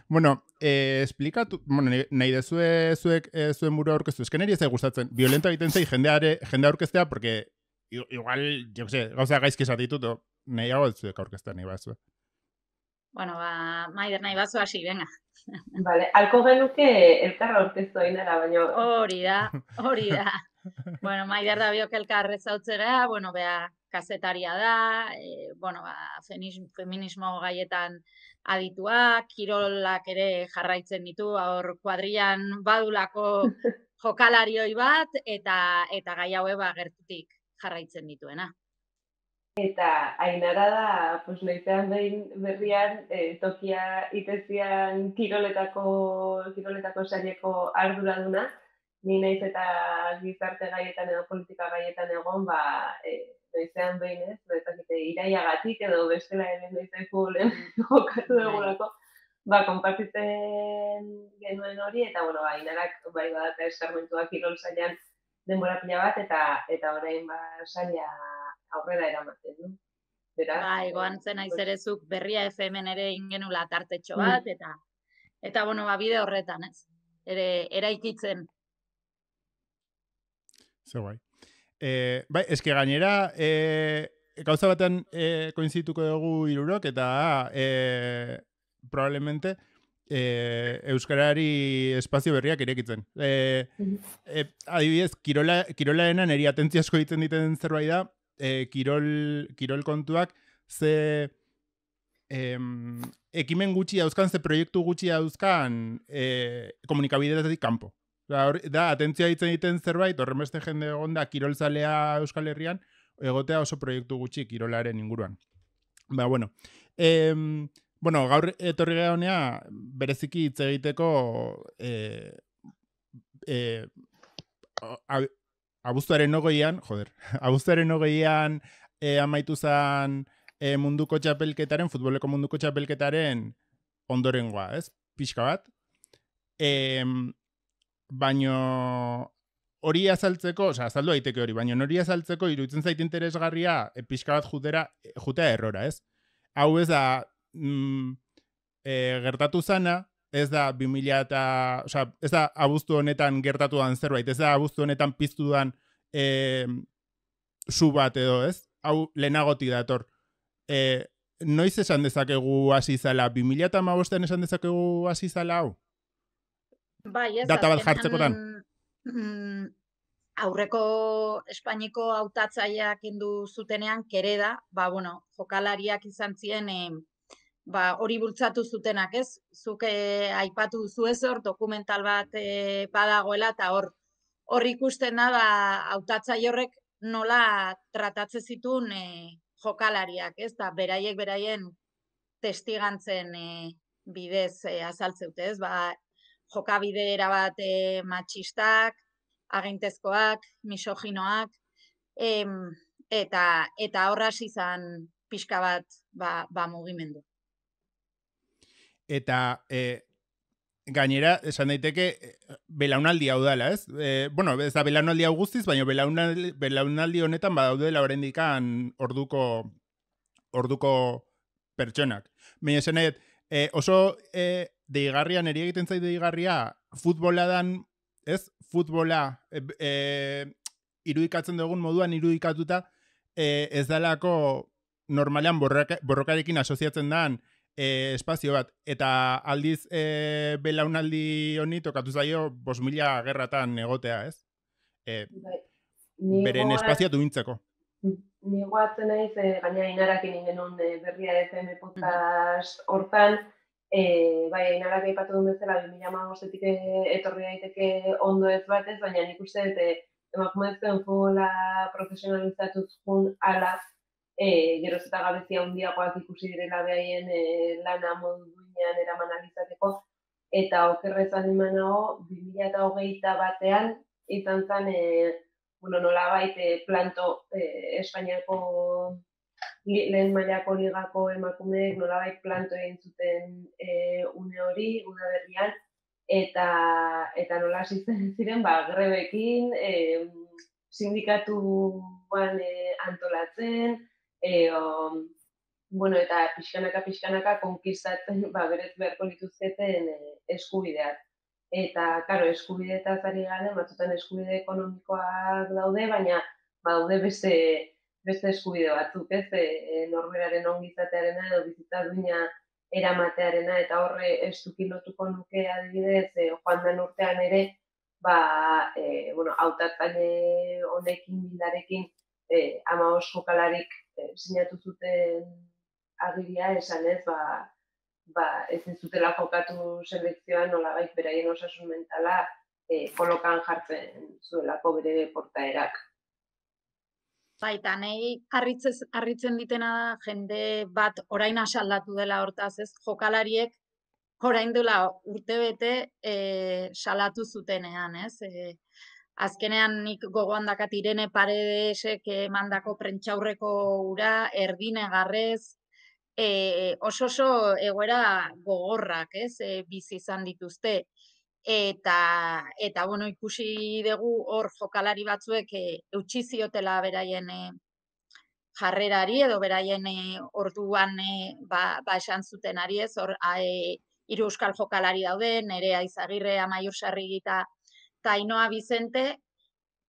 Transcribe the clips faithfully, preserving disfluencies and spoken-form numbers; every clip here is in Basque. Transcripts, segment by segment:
Bueno, eh, explikatu, bueno, nahi dezue zuek eh, zuen burua aurkeztu, esken eri ez da gustatzen, violenta egiten zei jendeare, jende aurkeztea, porque igual, jo sé, gauza gaizki esatitut, nahiago ez zuek aurkeztea nahi bazue. Bueno, ba, Maider nahi bazu hasi, venga. Vale, alko genuke elkarra aurkeztu ainara, baina... Hori da, hori da. Bueno, Maider da biok elkar ezautzera, bueno, bea, kazetaria da, e, bueno, ba, feminismo gaietan adituak, kirolak ere jarraitzen ditu, hor kuadrilan badulako jokalarioi bat, eta eta gai haue ba, gertutik jarraitzen dituena. Eta Ainara da, pues, noizean behin berrian, eh, tokia itezian kiroletako, kiroletako saileko arduraduna, ni naiz eta gizarte gaietan edo politika gaietan egon, ba, eh, noizean behin ez, bezakite iraiagatik edo bestela ere noizeku lehen jokatu dugulako, ba, konpartitzen genuen hori, eta, bueno, ba, Ainarak, bai, badaka eskarmentua kirol sailean denbora pila bat, eta eta orain, ba, saila aurrera eramaten, du. Beraz, bai, goan zen aizerezuk berria F M ere ingenula tartetxo bat, eta, eta bueno, ba, bide horretan, ez? Ere, eraikitzen. Ze guai. Eh, bai, eske gainera, eh, gauza batean eh, koinzituko dugu hirurok, eta eh, probablemente eh, euskarari espazio berriak irekitzen. Eh, eh, adibidez, kirola, kirolaena neri atentzia asko egiten diten zerbait da, eh, kirol, kirol kontuak ze em, ekimen gutxi dauzkan, ze proiektu gutxi dauzkan eh, komunikabideetatik kanpo. Da, hor, da atentzia ditzen egiten zerbait, horren beste jende egon da kirolzalea Euskal Herrian, egotea oso proiektu gutxi kirolaren inguruan. Ba, bueno. Em, bueno, gaur etorri gara honea, bereziki hitz egiteko eh, eh, abuztuaren hogeian, joder, abuztuaren hogeian eh, amaitu zen eh, munduko txapelketaren, futboleko munduko txapelketaren ondorengoa, ez? Pixka bat. Eh, baino hori azaltzeko, oza, azaldu daiteke hori, baino hori azaltzeko iruditzen zait interesgarria e, pixka bat jutera, jutea errora, ez? Hau ez da mm, e, gertatu zana, ez da bi mila eta, oza, ez da abuztu honetan gertatu dan zerbait, ez da abuztu honetan piztu dan e, su bat edo, ez? Hau lehenagotik dator. E, noiz esan dezakegu hasi zala, bi mila eta hamabostean esan dezakegu hasi zala hau? Bai, ez, data bat jartzekotan. Mm, aurreko Espainiko hautatzaileak kendu zutenean kereda, ba bueno, jokalariak izan ziren eh, ba hori bultzatu zutenak, ez? Zuk eh, aipatu duzu ez hor dokumental bat eh, badagoela eta hor hor ikusten da ba hautatzaile horrek nola tratatzen zituen eh, jokalariak, ez? Da beraiek beraien testigantzen eh, bidez eh, azaltzeute, ez? Ba jokabide erabat e, matxistak, agintezkoak, misoginoak, em, eta eta horraz izan pixka bat ba, ba mugimendu. Eta e, gainera, esan daiteke, belaunaldi hau dela, ez? E, bueno, ez da belaunaldi hau guztiz, baina belaunaldi, belaunaldi honetan badaudela oraindikan orduko orduko pertsonak. Baina esan nahi, e, oso e, deigarria, neri egiten zait deigarria, futbola dan, ez? Futbola e, e, irudikatzen dugun moduan irudikatuta, e, ez dalako normalean borroka, borrokarekin asoziatzen dan e, espazio bat. Eta aldiz e, belaunaldi honi tokatu zaio bos mila gerratan egotea, ez? E, beren espazioa duintzeko. Ni goatzen naiz, e, gaina Ainarakin ingenun e, berria F M podcast hortan, e, bai, Ainarak aipatu duen bezala, bi mila hamabostetik etorri daiteke ondo ez batez, baina nik uste dut e, emakumezkoen futbola profesionalizatuz jun ala, e, geroz eta gabezia handiagoak ikusi direla behaien e, lana modu duinean eraman alizateko, eta okerrez animanago, bi mila hogeita batean, izan zen, e, bueno, nolabait eh, planto eh, Espainiako li, lehen mailako ligako emakumeek nolabait planto egin zuten eh, une hori, una berrian, eta eta nola hasitzen ziren, ba, grebekin, eh, sindikatuan eh, antolatzen, eh, o, bueno, eta pixkanaka, pixkanaka, konkistatzen, ba, berez beharko lituzketen e, eskubideak. Eta, karo, eskubideetaz ari garen, batzutan eskubide ekonomikoak daude, baina daude beste, beste eskubide batzuk, ez, e, norberaren ongizatearena edo bizitza duina eramatearena, eta horre estuki lotuko nuke adibidez, e, joan den urtean ere, ba, e, bueno, hautatzaile honekin, bildarekin, e, hamabost jokalarik e, sinatu zuten agiria esan ez, ba, ba, ez zutela jokatu selekzioan nolabait beraien osasun mentala e, kolokan jartzen zuelako bere portaerak. Baita, nahi harritzen ditena da jende bat orain asaldatu dela hortaz, ez jokalariek orain dela urtebete e, salatu zutenean, ez? E, azkenean nik gogoan dakat Irene Paredesek emandako prentxaurreko ura, erdine garrez, e, oso oso egoera gogorrak, ez? E, bizi izan dituzte. Eta, eta bueno, ikusi dugu hor jokalari batzuek e, eutsi ziotela beraien e, jarrerari edo beraien e, orduan e, ba, ba esan zuten ari ez, hor e, hiru euskal jokalari daude, Nerea Izagirre, Amaiur Sarrigi eta Ainhoa Bizente,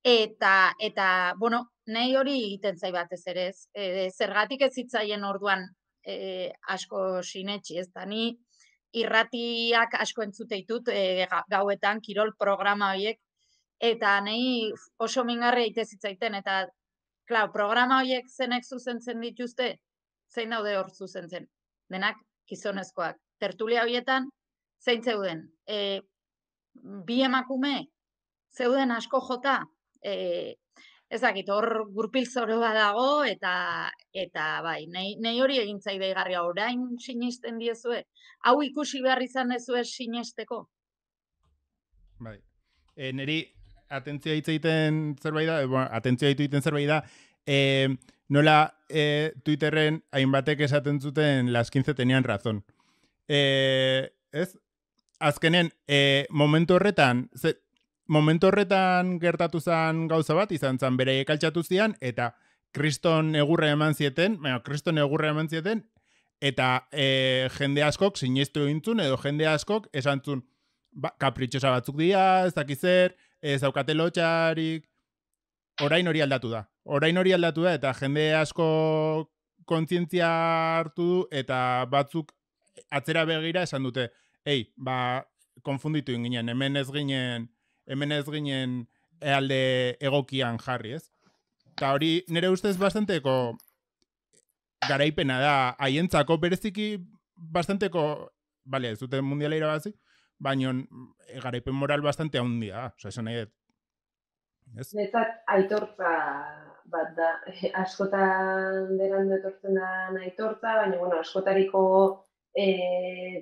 eta, eta bueno, nahi hori egiten zai batez ere ez, e, zergatik ez zitzaien orduan e, asko sinetxi ez da, ni irratiak asko entzute ditut e, gauetan, kirol programa horiek, eta nahi oso mingarri egite zitzaiten, eta klar, programa horiek zenek zuzentzen dituzte, zein daude hor zuzentzen, denak gizonezkoak. Tertulia horietan, zein zeuden, e, bi emakume, zeuden asko jota, e, ezakit, hor gurpil zoroa dago, eta, eta bai, nahi hori egin zaideigarria orain sinisten diezue, hau ikusi behar izan dezue sinesteko? Bai, e, niri atentzioa hitz egiten zerbait da, bueno, atentzioa hitz egiten zerbait da, e, nola e, Twitterren hainbatek esaten zuten las quince tenían razón. E, ez? Azkenen, e, momentu horretan, ze, momentu horretan gertatu zen gauza bat, izan zen beraiek altxatu zian, eta kriston egurra eman zieten, bueno, kriston egurra eman zieten, eta e, jende askok sinestu egintzun, edo jende askok esan zun, ba, kapritxosa batzuk dira, ez dakizer, ez daukate lotxarik, orain hori aldatu da. Orain hori aldatu da, eta jende asko kontzientzia hartu du, eta batzuk atzera begira esan dute, ei, ba, konfunditu ginen, hemen ez ginen, hemen ez ginen alde egokian jarri, ez? Eta hori nire ustez bastanteko garaipena da, haientzako bereziki bastanteko, bale, ez dute mundiala irabazi, baina garaipen moral bastante handia, oza, esan nahi dut. Netzat aitortza bat da, askotan berandu etortzen da aitortza, baina bueno, askotariko e,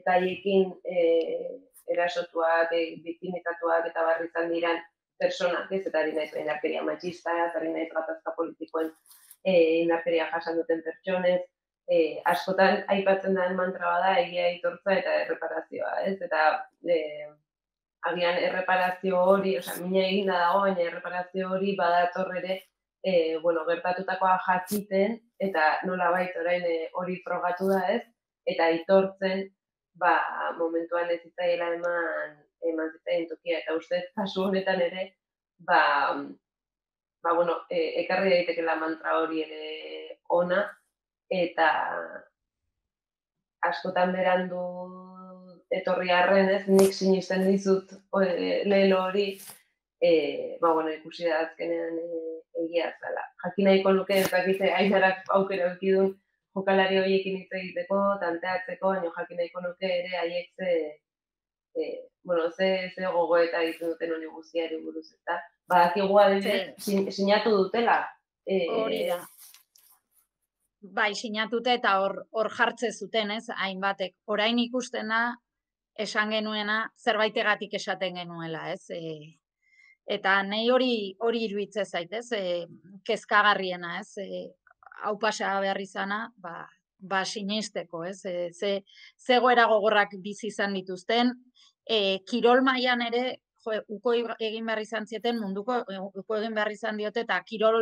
gaiekin e, erasotuak, e, biktimitatuak eta barri izan diran personak, ez, eta ari naiz indarkeria matxista, ari naiz gatazka politikoen e, indarkeria jasan duten pertsonez, e, askotan aipatzen den mantra bada egia aitortza eta erreparazioa, ez, eta e, agian erreparazio hori, osea, mina eginda dago, baina erreparazio hori badator ere, e, bueno, gertatutakoa jakiten, eta nolabait orain e, hori frogatu da, ez, eta aitortzen, ba, momentuan ez zitzaiela eman, eman zitzaien tokia, eta ustez, kasu honetan ere, ba, ba, bueno, e, ekarri daitekela mantra hori ere ona, eta askotan berandu etorri arren, ez, nik sinisten dizut lehelo hori, e, ba, bueno, ikusi da azkenean e, egia zala. Jakin nahiko nuke, ez dakite, Ainarak aukera eukidun jokalari horiekin hitz egiteko, tanteatzeko, baina jakin nahiko nuke ere haiek ze, e, bueno, ze, ze gogoeta egiten duten hori guztiari buruz, eta badakigu adibidez, sin, sinatu dutela. E, hori da. Bai, sinatute eta hor, hor jartze zuten, ez, hainbatek. Orain ikusten da, esan genuena, zerbaitegatik esaten genuela, ez? E, eta nahi hori hori iruditze zaitez, e, kezkagarriena, ez? E, hau pasa behar izana, ba, ba sinesteko, ez? E, ze, zegoera gogorrak bizi izan dituzten, e, kirol mailan ere, jo, uko egin behar izan zieten, munduko uko egin behar izan diote, eta kirol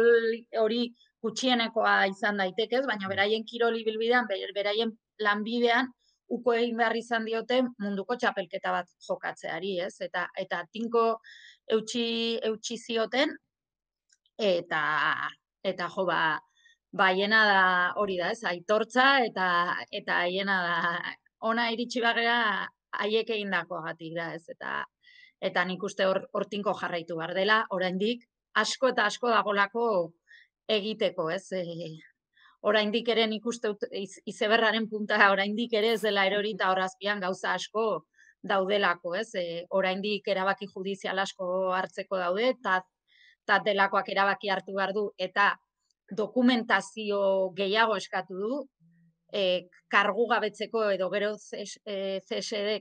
hori gutxienekoa izan daitekez, baina beraien kiroli bilbidean, beraien lanbidean, uko egin behar izan diote munduko txapelketa bat jokatzeari, ez? Eta, eta tinko eutxi, eutxi zioten, eta, eta jo, ba, ba, hiena da hori da, ez? Aitortza, eta, eta hiena da, ona iritsi bagera, haiek egindakoagatik da, ez? Eta, eta nik uste hor, hor tinko jarraitu behar dela, oraindik asko eta asko dagolako egiteko, ez? E, oraindik ere nik uste iz, izeberraren punta oraindik ere ez dela erorita horazpian gauza asko daudelako, ez? E, oraindik erabaki judizial asko hartzeko daude, eta ta delakoak erabaki hartu behar du, eta dokumentazio gehiago eskatu du, e, kargu gabetzeko edo gero C S D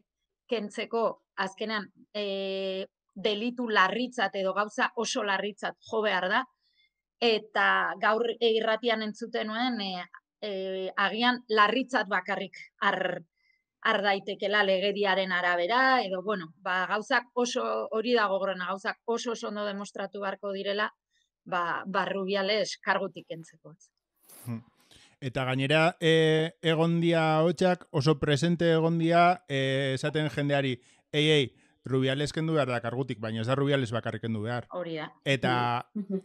kentzeko azkenan e, delitu larritzat edo gauza oso larritzat jo behar da, eta gaur irratian entzuten nuen, e, e, agian larritzat bakarrik ar, ar daitekela legediaren arabera, edo, bueno, ba, gauzak oso, hori dago gorena, gauzak oso oso ondo demostratu beharko direla, ba, ba Rubiales kargutik kentzeko. Eta gainera, e, egondia hotxak oso presente egondia e, esaten jendeari, ei, ei, Rubiales kendu behar da kargutik, baina ez da Rubiales bakarrik kendu behar. Hori da. Eta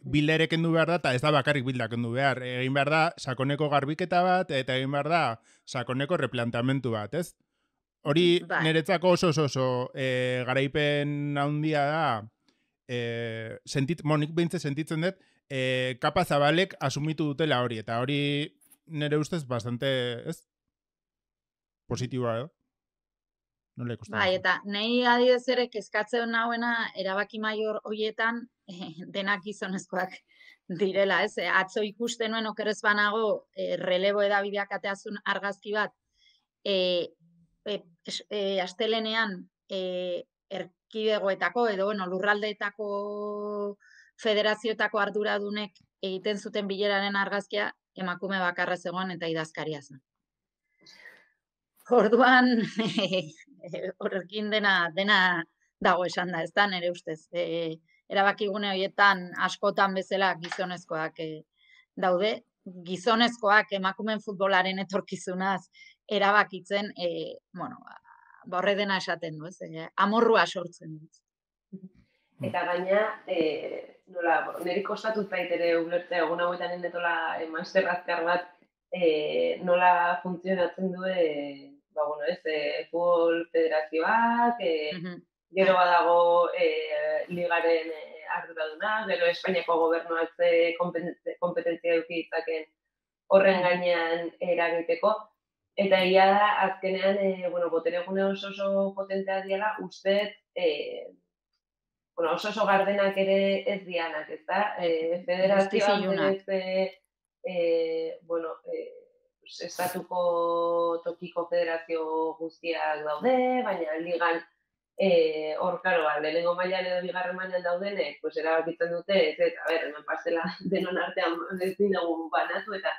Bilda ere kendu behar da, eta ez da bakarrik Bilda kendu behar. Egin behar da sakoneko garbiketa bat, eta egin behar da sakoneko replanteamentu bat, ez? Hori Bai. niretzako oso oso oso e, garaipen handia da, e, sentit, monik behintze sentitzen dut, e, kapa zabalek asumitu dutela hori, eta hori nire ustez bastante, ez? Positiboa, edo? Nola ikusten Bai, duzu? eta nahi adidez ere kezkatzen nahuena erabaki maior hoietan eh, denak gizonezkoak direla, ez? Eh, Atzo ikusten nuen okerez banago eh, relebo edabideak ateazun argazki bat, eh, eh, es- eh, astelenean eh, erkidegoetako edo bueno, lurraldeetako federazioetako arduradunek egiten zuten bileraren argazkia emakume bakarra zegoen eta idazkaria zen. Orduan, horrekin dena, dena dago esan da, ez da, nire ustez. E, erabakigune horietan askotan bezala gizonezkoak e, daude, gizonezkoak emakumen futbolaren etorkizunaz erabakitzen, e, bueno, ba, horre dena esaten du, ez? E, amorrua sortzen du. Eta gaina, e, nola, niri kostatu zait ere ulertzea, egun hauetan endetola e, master azkar bat, e, nola funtzionatzen du, e, ba, bueno, ez, e, futbol federazioak, e, Mhm. gero badago e, ligaren e, arduraduna, gero Espainiako gobernuak ze kompeten- kompetentzia eduki ditzaken horren gainean eragiteko, eta ia da, azkenean, e, bueno, boteregune oso oso potentea diela, uste, e, bueno, oso oso gardenak ere ez dianak, ez da? E, federazioak Justizilunak. berez, e, bueno, e, pues, estatuko tokiko federazio guztiak daude, baina ligan e, hor, karo, ba, lehenengo mailan edo bigarren mailan daudenek, pues, erabakitzen dute, ez, ez, a ber, hemen pastela denon artean ez dugu banatu, eta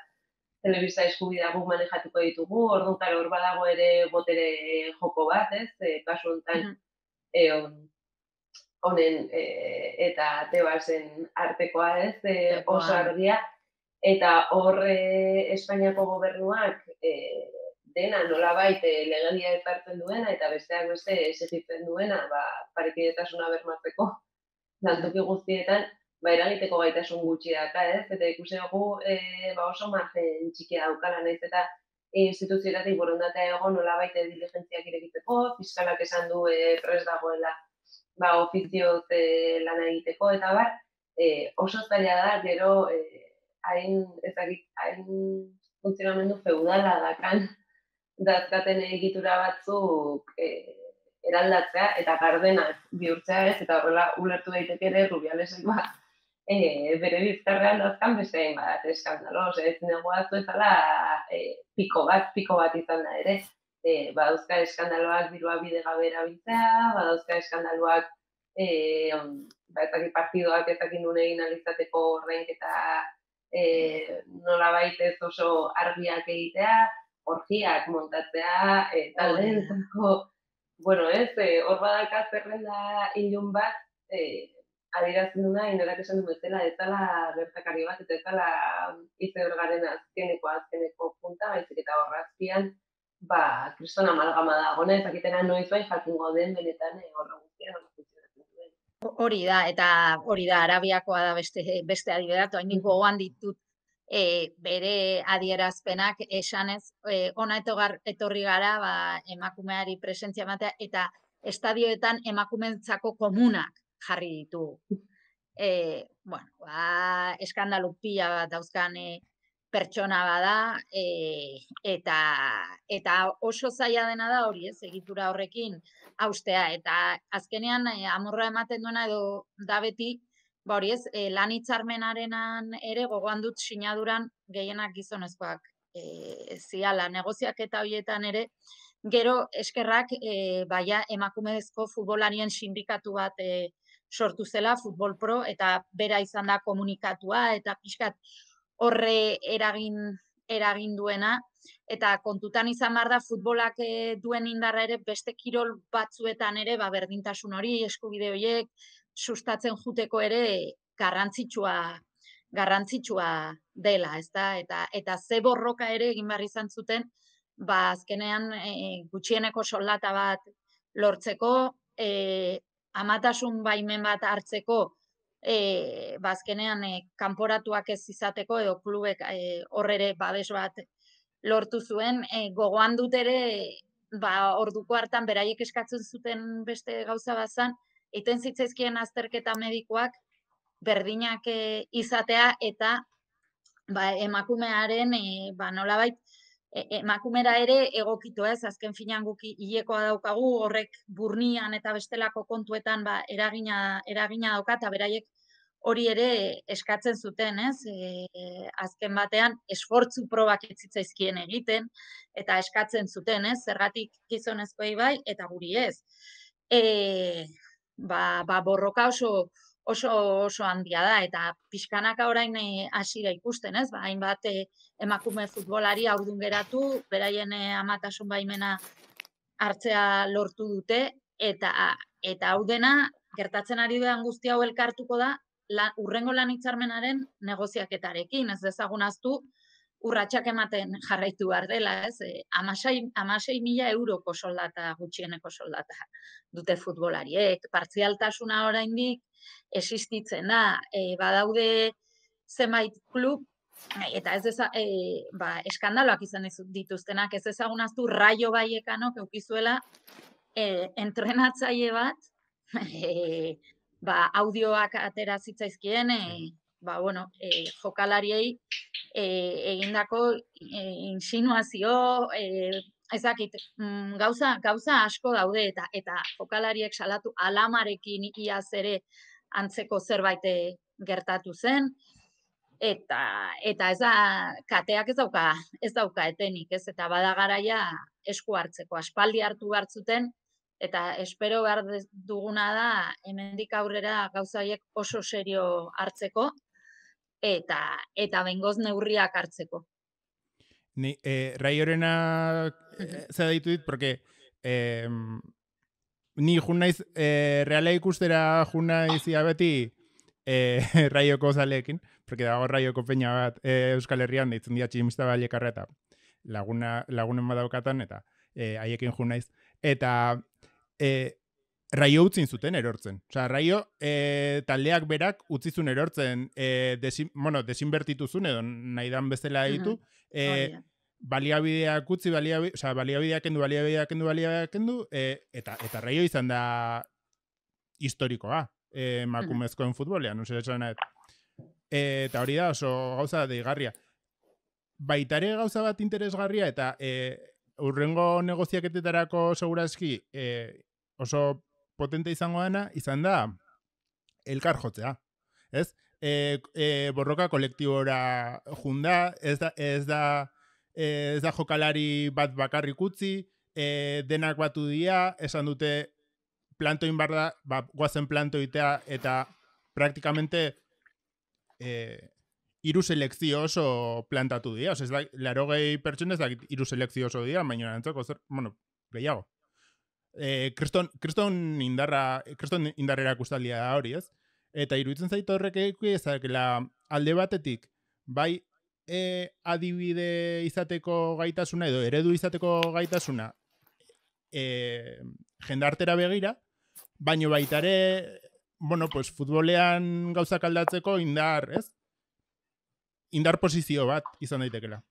telebista eskubidea guk manejatuko ditugu, orduan, karo, hor badago ere botere joko bat, ez, e, kasu honetan, Mhm. e, on, honen e, eta Tebasen artekoa, ez, e, Artekoa. oso argia, eta hor e, Espainiako gobernuak e, dena nolabait e, legedia ezartzen duena, eta besteak beste exigitzen duena, ba, parekidetasuna bermatzeko, lantoki guztietan, ba, eragiteko gaitasun gutxi daka, ez, eta ikusi dugu e, ba, oso margen txikia daukala, naiz eta instituzioetatik borondatea egon nolabait diligentziak irekitzeko, fiskalak esan du e, prest dagoela ba, ofizioz e, lan egiteko, eta bar, e, oso zaila da, gero, e, hain, ezagik, hain funtzionamendu feudala dakan, dazkaten egitura batzuk e, eraldatzea, eta gardenak bihurtzea ez, eta horrela ulertu daiteke ere Rubialesek ba, e, bere bizkarrean dazkan beste hain bat eskandalo, ose, ez negoaztu ezala e, piko bat, piko bat izan da ere, e, badauzka eskandaloak dirua bide gabe erabiltzea, badauzka eskandaloak e, ba, ezakit partidoak ezakin nune egin alizateko ordainketa e, nolabait ez oso argiak egitea, orgiak montatzea, e, taldeetako, bueno ez, e, hor badaka zerrenda ilun bat, e, adierazten duna, inorak esan du bezala, ez dela gertakari bat, eta ez dela izebergaren azkeneko azkeneko punta, baizik eta horrazpian, ba, kriston amalgama da, gona, ezakitena noiz bai jakingo den benetan horra guztian, horra funtzionatzen duen. Hori da, eta hori da, Arabiakoa da beste, beste adibidatu, hain gogoan ditut e, bere adierazpenak esanez, e, ona etogar, etorri gara ba, emakumeari presentzia ematea, eta estadioetan emakumentzako komunak jarri ditugu. E, bueno, ba, eskandalu pila bat dauzkan e, pertsona bada, e, eta, eta oso zaila dena da hori, ez, egitura horrekin haustea, eta azkenean e, amorra ematen duena edo da beti, ba hori ez, e, lan hitzarmenarenan ere gogoan dut sinaduran gehienak gizonezkoak e, ziala, negoziak eta horietan ere, gero eskerrak e, baia emakumezko futbolarien sindikatu bat e, sortu zela, Futbol Pro, eta bera izan da komunikatua, eta pixkat horre eragin, eragin duena, eta kontutan izan behar da futbolak duen indarra ere beste kirol batzuetan ere, ba, berdintasun hori, eskubide horiek, sustatzen juteko ere garrantzitsua, garrantzitsua dela, ezta? Eta, eta ze borroka ere egin behar izan zuten, ba, azkenean e, gutxieneko soldata bat lortzeko, e, amatasun baimen bat hartzeko, E, bazkenean e, kanporatuak ez izateko edo klubek e, horrere babes bat lortu zuen, e, gogoan dut ere ba, orduko hartan beraiek eskatzen zuten beste gauza bazan, egiten zitzaizkien azterketa medikoak berdinak e, izatea eta ba, emakumearen e, ba, nolabait e, emakumera ere egokitu ez, azken finan guki hilekoa daukagu, horrek burnian eta bestelako kontuetan ba, eragina, eragina dauka, eta beraiek hori ere eskatzen zuten, ez? E, azken batean esfortzu probak ez zitzaizkien egiten eta eskatzen zuten, ez? Zergatik gizonezkoei bai eta guri ez. E, ba, ba borroka oso oso oso handia da eta pixkanaka orain hasi da ikusten, ez? Ba, hainbat e, emakume futbolari haurdun geratu, beraien e, amatasun baimena hartzea lortu dute eta eta hau dena gertatzen ari den guzti hau elkartuko da La, urrengo lan hitzarmenaren negoziaketarekin, ez dezagun aztu, urratsak ematen jarraitu behar dela, ez? E, amasei mila euroko soldata, gutxieneko soldata dute futbolariek, partzialtasuna oraindik existitzen da, e, badaude zenbait klub, eta ez deza, e, ba, eskandaloak izan dituztenak, ez dezagun aztu Raio Vallecanok eukizuela e, entrenatzaile bat, e, ba, audioak atera zitzaizkien, e, ba, bueno, e, jokalariei e, egindako e, insinuazio, e, ezakit, mm, gauza, gauza asko daude, eta eta jokalariek salatu alamarekin iaz ere antzeko zerbait gertatu zen, eta eta ez da, kateak ez dauka, ez dauka etenik, ez, eta bada garaia esku hartzeko, aspaldi hartu hartzuten, eta espero behar duguna da hemendik aurrera gauza horiek oso serio hartzeko eta eta bengoz neurriak hartzeko. Ni eh, Raiorena eh, zera ditu dit, porque eh, ni jun naiz eh, Reala ikustera jun naiz beti eh, Raioko zaleekin, porque dago Raioko peña bat eh, Euskal Herrian deitzen dira Tximista Ballekarra eta laguna, lagunen badaukatan eta eh, haiekin jun naiz. Eta E, Raio utzin zuten erortzen. Osea, Raio e, taldeak berak utzizun erortzen e, desin, bueno, desinbertituzun edo nahi dan bezala ditu. E, baliabideak utzi, baliabideak, osea, baliabideak kendu, baliabideak kendu, baliabideak kendu, e, eta, eta Raio izan da historikoa e, makumezkoen futbolean, no sé, esan nahet. E, eta hori da oso gauza deigarria. Baitare gauza bat interesgarria eta e, urrengo negoziaketetarako segurazki e, oso potente izango dena, izan da elkar jotzea, ez? E, e, borroka kolektibora junda, ez da, ez da, ez da jokalari bat bakarrik utzi, e, denak batu dira, esan dute plantoin barda, ba, guazen plantoitea, eta praktikamente e, iru selekzio oso plantatu dira, ez da, laro gehi pertsona ez da iru selekzio oso dira, baina antzako, zer, bueno, gehiago. Eh, kriston, kriston indarra, kriston indarrera kustaldia da hori, ez? Eta iruditzen zaitu horrek ezakela alde batetik, bai e, adibide izateko gaitasuna edo eredu izateko gaitasuna e, jendartera begira, baino baita ere, bueno, pues futbolean gauzak aldatzeko indar, ez? Indar posizio bat izan daitekela.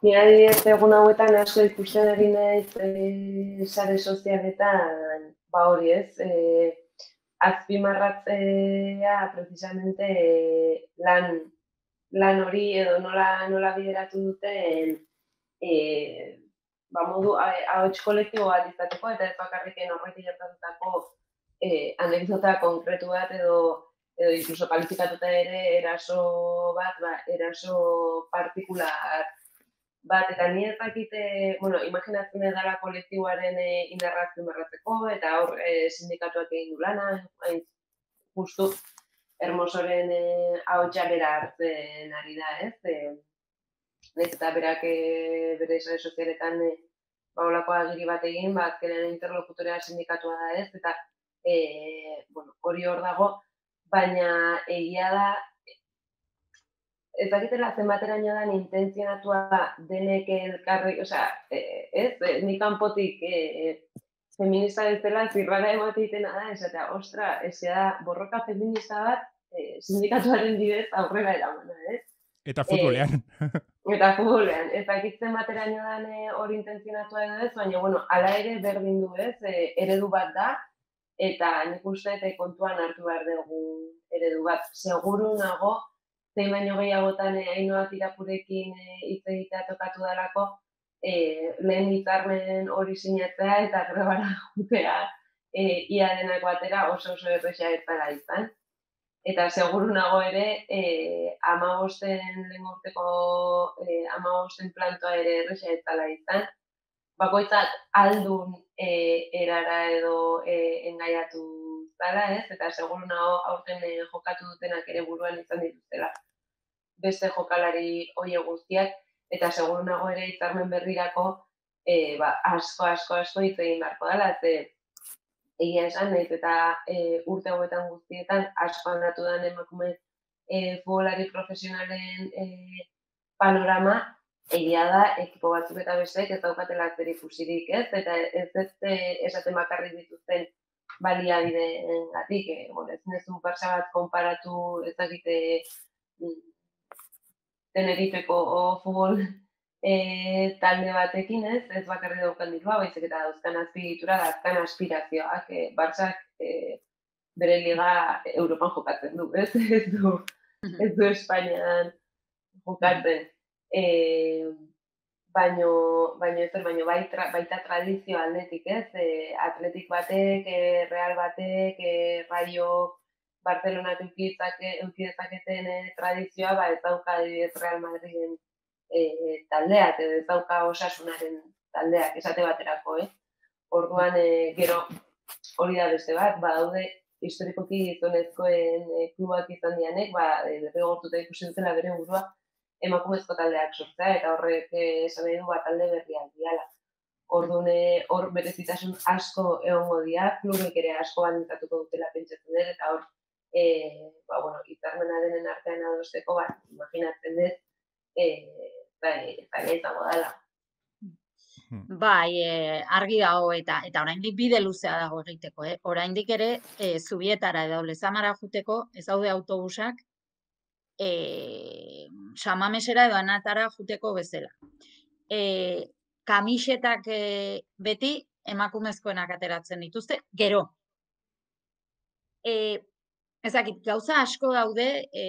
Ni adibidez egun hauetan asko ikusten ari naiz e, sare sozialetan, ba hori ez, e, azpimarratzea precisamente e, lan lan hori edo nola nola bideratu duten e, ba modu ahots kolektibo bat izateko eta ez bakarriken horretik gertatutako e, anekdota konkretu bat edo edo incluso kalifikatuta ere eraso bat, ba, eraso partikular bat, eta ni ez dakite, bueno, imaginatzen edala kolektiboaren e, indarra azpimarratzeko, eta hor e, sindikatuak egin du lana, hain justu Hermosoren e, ahotsa bera hartzen ari da, ez? E, Naiz eta berak e, bere sare sozialetan e, ba holako agiri bat egin, ba azkenean interlokutorea sindikatua da, ez? Eta e, bueno, hori hor dago, baina egia da ez dakitela zenbateraino da intentzionatua denek elkarri, osea, ez, ni kanpotik e, feminista bezala zirrara emateitena da, esatea, ostra, ezea da borroka feminista bat e, sindikatuaren bidez aurrera eramana, ez? Eta futbolean. E, eta futbolean, ez dakitzen bateraino dan hori intentzionatua edo ez, baina, bueno, ala ere berdin du ez, e, eredu bat da, eta nik uste eta kontuan hartu behar dugu eredu bat. Seguru nago, zein baino gehiagotan e, Ainhoa Tirapurekin hitz e, egitea tokatu dalako, e, lehen hitzarmen hori sinatzea eta grebara jutea e, ia denak batera oso oso erresa ez dela izan. Eta seguru nago ere, e, amabosten lehen urteko e, amabosten plantoa ere erresa ez dela izan. Bakoitzak aldun e, erara edo e, engaiatu zara, ez? Eta seguru nago aurten e, jokatu dutenak ere buruan izan dituztela beste jokalari hoie guztiak, eta seguru nago ere hitzarmen berrirako e, ba, asko, asko, asko hitz egin beharko dela, ze egia esan, nahiz eta e, urte hauetan guztietan asko aldatu den emakume e, futbolari profesionalen e, panorama, egia da, ekipo batzuk eta besteek ez daukatela zer ikusirik, ez? Eta ez ez esaten bakarrik dituzten baliabideengatik, e, bueno, ez nezu Barça bat konparatu ezagite Tenerifeko o futbol e, talde batekin, ez? Ez bakarri daukan dirua, baizik eta dauzkan azpiegitura, dauzkan aspirazioak, e, Barçak e, bere liga Europan jokatzen du, ez? Ez du, ez du Espainian jokatzen. E, baino, baino ez, baino baita, baita tradizio aldetik, ez? E, atletik batek, e, Real batek, e, Rayo Barcelonak eukidezaketen e, tradizioa, ba ez dauka adibidez Real Madriden e, taldeak, edo ez dauka Osasunaren taldeak, esate baterako, eh? Orduan, e, gero hori da beste bat, ba daude historikoki gizonezkoen e, klubak izan dianek, ba derrigortuta ikusi dutela bere burua emakumezko taldeak sortzea, eta horrek esan nahi du ba talde berriak diala. Orduan, hor berezitasun asko egongo dira, klubek ere asko baldintzatuko dutela pentsatzen dut, eta hor E, ba, bueno, hitzarmena denen artean adosteko, ba, imaginatzen dut, e, bai, bai, izango dela. Bai, e, argi dago eta eta oraindik bide luzea dago egiteko, eh? Oraindik ere e, Zubietara edo Lezamara juteko ez daude autobusak e, Samamesera edo Anatara juteko bezala. E, kamisetak e, beti emakumezkoenak ateratzen dituzte, gero. E, Ezakit, gauza asko daude, e,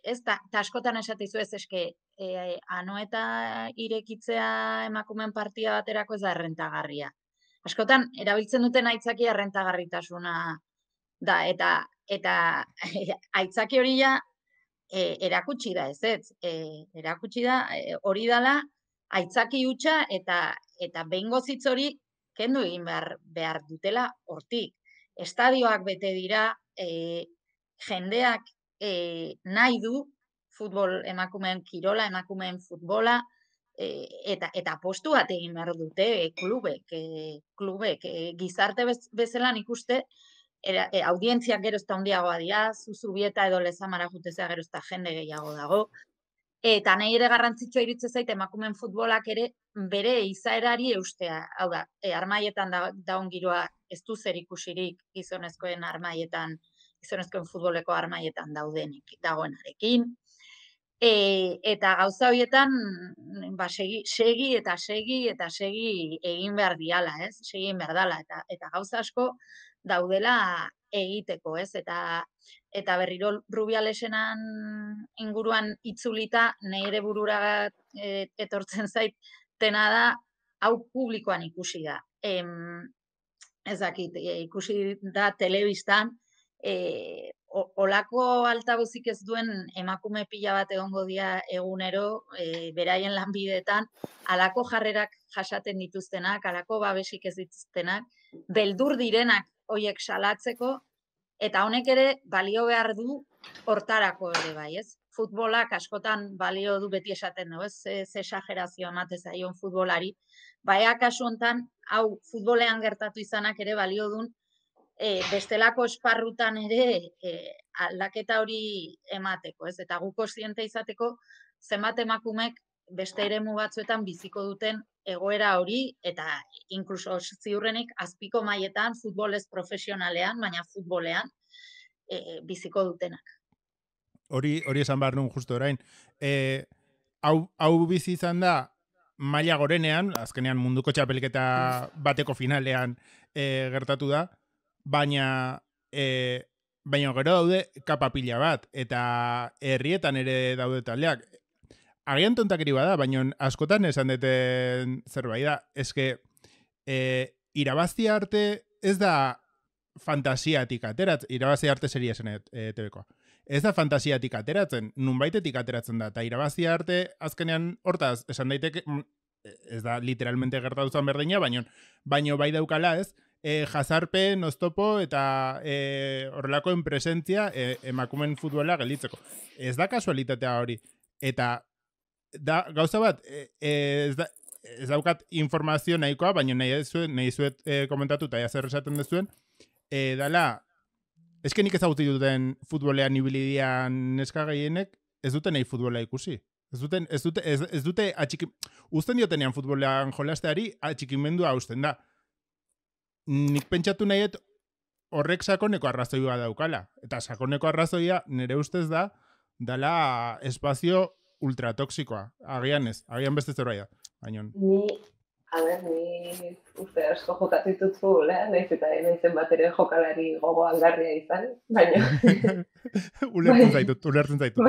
ez da, eta askotan esatizu ez eske, e, anoeta irekitzea emakumen partida baterako ez da errentagarria. Askotan, erabiltzen duten aitzaki errentagarritasuna da, eta eta aitzaki hori ja e, erakutsi da, ez ez, e, erakutsi da, e, hori dala, aitzaki hutsa eta eta behingo zitz hori kendu egin behar, behar dutela hortik. Estadioak bete dira, e, jendeak e, nahi du futbol emakumeen kirola, emakumeen futbola, e, eta eta postu bat egin behar dute e, klubek, e, klubek e, gizarte bez, bezala nik uste era, e, audientziak gero ezta handiagoa dira, Zuzubieta edo Lezamara jutezea gero ezta jende gehiago dago. Eta nahi ere garrantzitsua iritze zait emakumeen futbolak ere bere izaerari eustea. Hau da, e, armaietan da, daun giroa ez du zer ikusirik gizonezkoen armaietan, gizonezkoen futboleko armaietan daudenik, dagoenarekin. E, eta gauza horietan ba, segi, segi eta segi eta segi egin behar diala, ez? Segi egin behar dala, eta, eta gauza asko daudela egiteko, ez? Eta eta berriro Rubialesenan inguruan itzulita, nire burura e, etortzen zait, tena da, hau publikoan ikusi da. Em, ez dakit, e, ikusi da telebistan, e, olako altabuzik ez duen emakume pila bat egongo dira egunero, e, beraien lanbideetan, alako jarrerak jasaten dituztenak, alako babesik ez dituztenak, beldur direnak hoiek salatzeko, eta honek ere balio behar du hortarako ere bai, ez? Futbolak askotan balio du beti esaten du, ez? Ze, ze esagerazio emate zaion futbolari. Baina kasu hontan, hau futbolean gertatu izanak ere balio dun, e, bestelako esparrutan ere e, aldaketa hori emateko, ez? Eta gu kontziente izateko zenbat emakumek beste eremu batzuetan biziko duten egoera hori, eta inkluso ziurrenik azpiko mailetan futbolez profesionalean, baina futbolean e, biziko dutenak. Hori hori esan behar nun justo orain. E, hau, hau bizi izan da maila gorenean, azkenean munduko txapelketa bateko finalean e, gertatu da, baina e, baina gero daude kapapila bat, eta herrietan ere daude taldeak. Agian tontakeri bada, baina askotan esan deten zerbait da. Eske, e, irabazi arte ez da fantasiatik ateratzen, irabazi arte seria zen e, T Vkoa. Ez da fantasiatik ateratzen, nunbaitetik ateratzen da, eta irabazi arte azkenean hortaz, esan daiteke, ez da literalmente gertatu zen berdina, baina baino bai daukala ez, e, jazarpen, oztopo eta e, horrelako enpresentzia e, emakumen futbola gelditzeko. Ez da kasualitatea hori. Eta da, gauza bat, e, ez, da, ez daukat informazio nahikoa, baina nahi zuet, nahi zuet e, komentatu eta zer esaten dezuen, e, dala, eske nik ezagutzen duten futbolean ibilidian neska gehienek, ez dute nahi futbola ikusi. Ez dute, ez dute, ez, ez dute atxiki, uzten diotenean futbolean jolasteari, atxikimendua hausten da. Nik pentsatu nahiet horrek sakoneko arrazoia daukala. Eta sakoneko arrazoia nire ustez da, dala espazio ultratoxikoa. Agian ez, agian beste zerbait da. Baina... Ni, a ber, ni uste asko jokatu ditut futbolea, nahiz eta naizen bat ere jokalari gogo algarria izan, baina... ulertzen zaitut, ulertzen zaitut.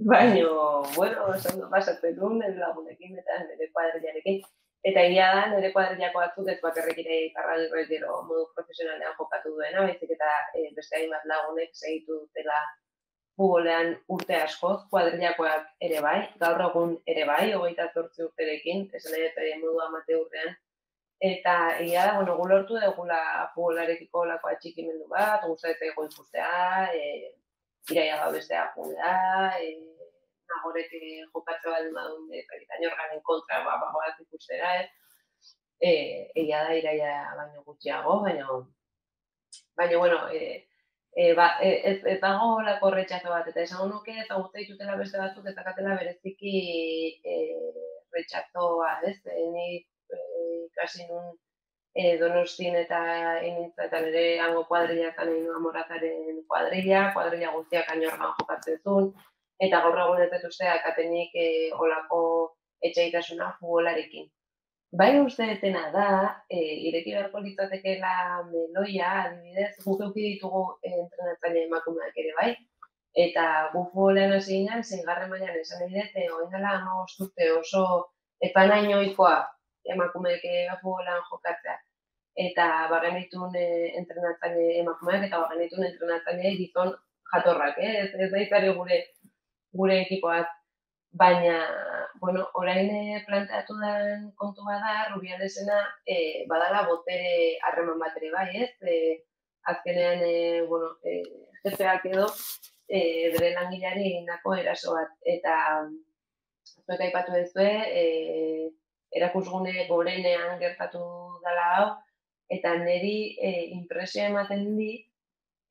Baina, bueno, oso pasatzen duen, nire lagunekin eta nire kuadrillarekin. Eta egia da, nire kuadrillako batzuk ez bakarrik ere iparran gero modu profesionalean jokatu duena, baizik eta e, beste hainbat lagunek segitu dutela futbolean urte askoz, kuadrillakoak ere bai, gaur egun ere bai, hogeita zortzi urterekin, esan nahi eta modu amateurrean. Eta egia da, bueno, gu lortu dugula futbolarekiko lako atxikimendu bat, gustatzen ego ikustea, e, iraia gau bestea jundea, e, nagorek jokatze bat badun, eta inorganen kontra ba, bagoak ikustera, e, egia da, iraia baino gutxiago, baina, baina, bueno, e, E, ba, ez, ez dago lako retxazo bat, eta esan nuke eta guzti ditutela beste batzuk ez dakatela bereziki e, retxazoa, ez? E, ni e, ikasi nun e, Donostin eta inintzaetan ere hango kuadrilla eta nahi nuen Morazaren kuadrilla, kuadrilla guztiak ainorgan jokatzen zuen, eta gaur egun ez dut usteak atenik e, olako etxaitasuna futbolarekin. Bai uste detena da, e, ireki beharko litzatekeela meloia, adibidez, guk euki ditugu e, entrenatzaile emakumeak ere bai, eta gu futbolean hasi ginen, zeigarren mailan esan nahi dut, oin dela hamabost urte oso epanaino ohikoa emakumeek futbolean jokatzea. Eta bagen ditun e, entrenatzaile emakumeak eta bagen ditun entrenatzaile gizon jatorrak, eh? ez, ez da izari gure, gure ekipoak. Baina, bueno, orain planteatu den kontu bada, Rubialesena e, badala botere harreman bat ere bai, ez? E, azkenean, e, bueno, e, jefeak edo, e, bere langileari egindako eraso bat. Eta, zuek aipatu duzue, e, erakusgune gorenean gertatu dela hau, eta niri e, impresio ematen dit,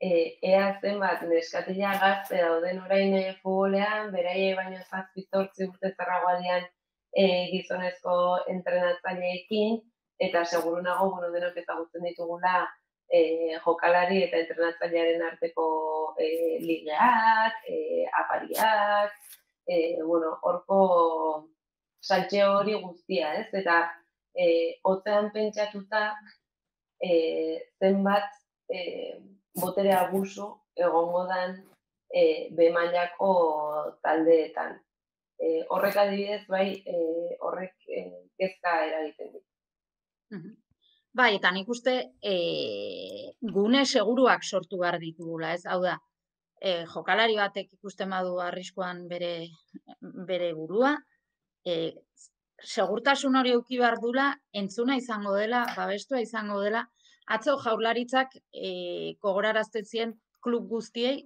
e, ea zenbat neskatila gazte dauden orain e, futbolean, beraie baino zazpi zortzi urte zarragoadian e, gizonezko entrenatzaileekin, eta seguru nago, bueno, denok ezagutzen ditugula e, jokalari eta entrenatzailearen arteko e, ligeak, e, apariak, e, bueno, horko saltxe hori guztia, ez? Eta e, hotzean pentsatuta e, zenbat e, botere abusu egongo dan e, B mailako taldeetan. E, horrek adibidez, bai, e, horrek e, kezka eragiten dit. Bai, eta nik uste e, gune seguruak sortu behar ditugula, ez? Hau da, e, jokalari batek ikusten badu arriskuan bere, bere burua, e, segurtasun hori eduki behar dula, entzuna izango dela, babestua izango dela, atzo jaurlaritzak e, gogorarazten zien klub guztiei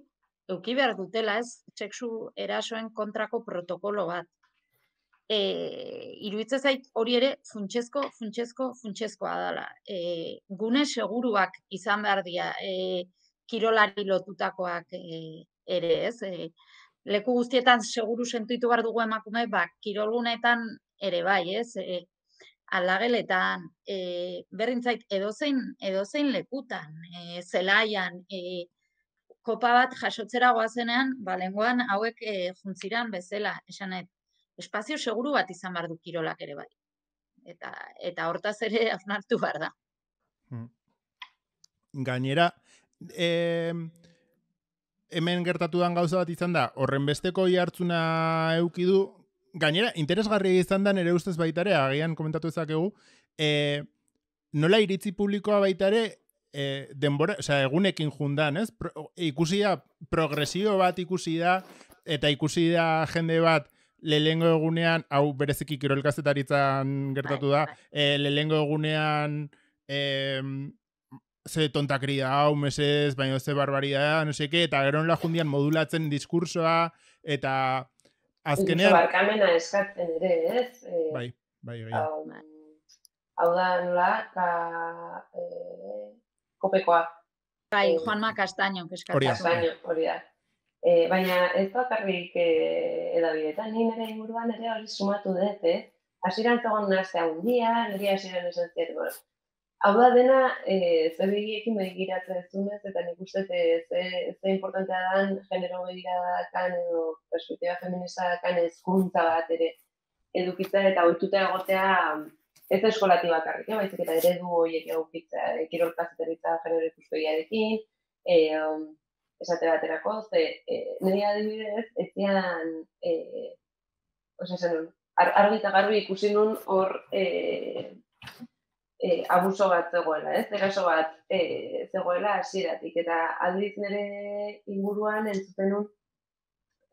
eduki behar dutela, ez? Sexu erasoen kontrako protokolo bat. E, iruditzen zait hori ere funtsezko, funtsezko, funtsezkoa dela. E, gune seguruak izan behar dira, e, kirolari lotutakoak e, ere, ez? E, leku guztietan seguru sentitu behar dugu emakume, ba, kirolgunetan ere bai, ez? E, aldageletan, e, berdintzait edozein, edozein lekutan, e, zelaian, e, kopa bat jasotzera goazenean, ba, lenguan hauek e, juntziran bezala, esanet, espazio seguru bat izan behar du kirolak ere bai. Eta, eta hortaz ere hausnartu behar da. Gainera, eh, hemen gertatudan gauza bat izan da, horren besteko jartzuna eukidu, gainera, interesgarria izan da nire ustez baitare, agian komentatu ezakegu, eh, nola iritzi publikoa baitare, eh, denbora, osea, egunekin jundan, ez? Pro, ikusi da, progresio bat ikusi da, eta ikusi da jende bat, lehengo egunean, hau bereziki kirolkazetaritzan gertatu da, e, lehengo egunean e, ze tontakri da, hau mesez, baina ze barbaridad, no seke, eta gero nola jundian modulatzen diskursoa, eta azkenean... Incluso barkamena eskatzen ere, ez? E, bai, bai, bai. Hau, hau da nola, ka, e, kopekoa. Bai, e, Juanma Castaño, eskatzen. Castaño, hori da. E, baina ez bakarrik e, edabidetan, ni nire inguruan ere hori sumatu dut, eh? Hasieran zegoen nazte handia, nire hasieran esan ziet, bueno. Hau da dena, e, zer begiekin begiratzen ez dunez, eta nik uste ze, ze importantea dan genero begiradakan edo perspektiba feministadakan hezkuntza bat ere edukitzea eta ohituta egotea ez eskolati bakarrik, eh? Baizik eta eredu horiek edukitzea, e, kirolkazetaritza genero ikuspegiarekin, e, um, esate baterako, ze e, nire adibidez, ez zian, e, oza, zen, ar, argi eta garbi ikusi nun hor e, e, abuso bat zegoela, ez? Eraso bat e, zegoela hasieratik eta aldiz nire inguruan entzuten nun,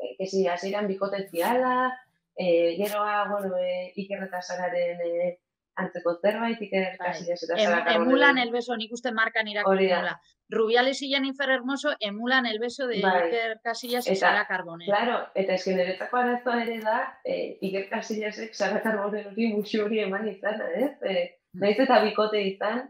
e, kesi hasieran bikote ziala, e, geroa, bueno, e, Iker eta Sararen e, antzeko zerbait, Iker Casillas eta Sara Carbonell. Emulan el beso, nik uste markan irakurtzen. Rubiales y Jennifer Hermoso emulan el beso de bai. Iker Casillas y Sara Carbonell. Claro, eta esken niretzako arazoa ere da, eh, Iker Casillasek Sara Carbonell hori muxu hori eman izana, ez? Eh, naiz eta bikote izan,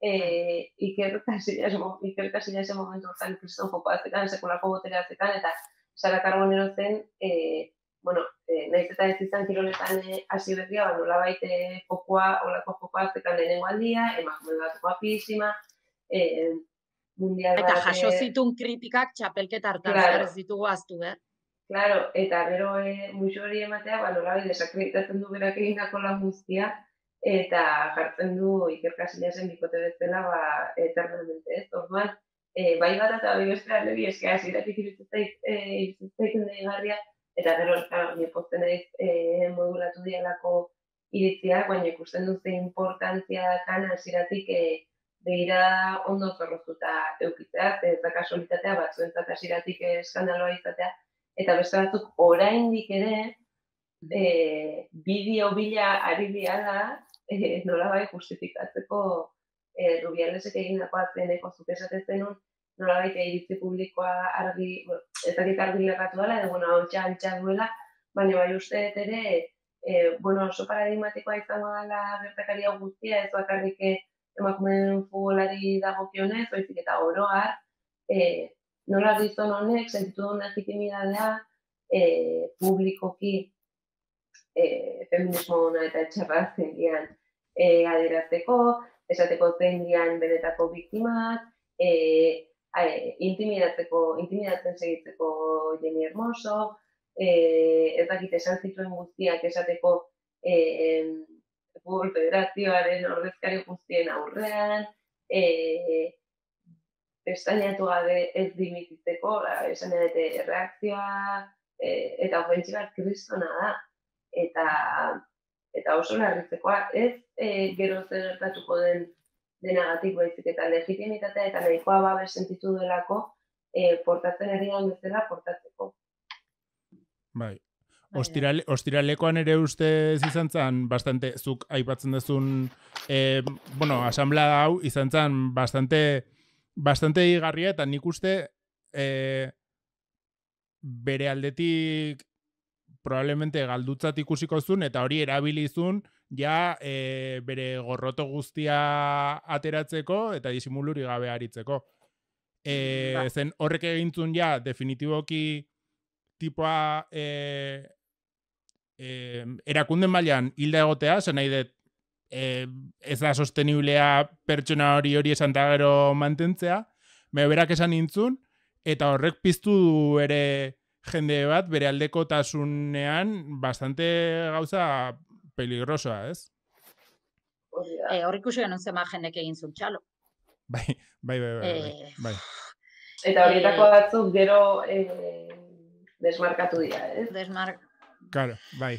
eh, Iker Casillas, Iker Casillas momentu hortan kriston joko azekan, sekulako botere azekan, eta Sara Carbonell zen, eh, bueno, eh, naiz eta ez izan kiroletan hasi eh, berria, ba, nolabait eh, fokua, olako fokua azekan lehenengo aldia, emakume bat guapísima, eh, mundial eta bat... Eta jaso zitun kritikak txapelketa hartan, claro. Ez ditugu aztu, eh? Claro, eta gero e, muxo hori ematea, ba, nolabait desakreditatzen du berak egindako lan guztia, eta jartzen du Iker Casillasen bikote bezala, ba, eternamente, ez? Orduan, e, bai bat eta bai bestea lebi eske hasieratik iruditzen deigarria, eta gero ni pozten naiz e, modulatu dialako iritziak, baina ikusten dut ze importantzia dakan hasieratik e, begira ondo zorroztuta eukitzea, ez da kasualitatea batzuentzat hasieratik eskandaloa izatea, eta beste batzuk oraindik ere e, bideo bila ari diala e, nolabai justifikatzeko e, Rubialesek egindako azkeneko zuk esaten nun, nolabait iritzi publikoa argi, bueno, ez dakit argi lerratu dela, edo, bueno, hau txantxa duela, baina bai uste ere, e, bueno, oso paradigmatikoa izango dela gertakaria guztia, ez bakarrik emakumeen futbolari dagokionez, baizik eta oroar, e, nola gizon honek sentitu duen legitimidadea e, publikoki e, feminismo ona eta etxarra zendian e, adierazteko, esateko zein dian benetako biktimak, e, e, intimidatzeko, intimidatzen segitzeko Jenni Hermoso, e, ez dakit esan zituen guztiak esateko e, Futbol Federazioaren ordezkari guztien aurrean, e, pestainatu gabe ez dimititzeko, esan edate erreakzioa e, eta ofentsiba kristona da. Eta, eta oso larritzekoa, ez e, gero zer gertatuko den denagatik baizik eta legitimitatea eta nahikoa babes sentitu delako e, portatzen erian bezala portatzeko. Bai. Ostirale, ostiralekoan ere ustez izan zen, bastante, zuk aipatzen duzun, eh, bueno, asamblea hau izan zen bastante, bastante igarria, eta nik uste eh, bere aldetik probablemente galdutzat ikusiko zuen, eta hori erabilizun ja e, bere gorroto guztia ateratzeko eta disimuluri gabe aritzeko. E, ba. Zen horrek egintzun ja definitiboki tipoa e, e, erakunden mailan hilda egotea, zen nahi dut e, ez da sosteniblea pertsona hori hori esan eta gero mantentzea, me berak esan nintzun, eta horrek piztu du ere jende bat bere aldekotasunean bastante gauza peligrosoa, ez? Eh, hor ikusi genuen zema jendek egin zuen txalo. Bai, bai, bai, bai, eh, bai. Eta horietako eh, batzuk gero eh, desmarkatu dira, ez? Desmark... Claro, bai.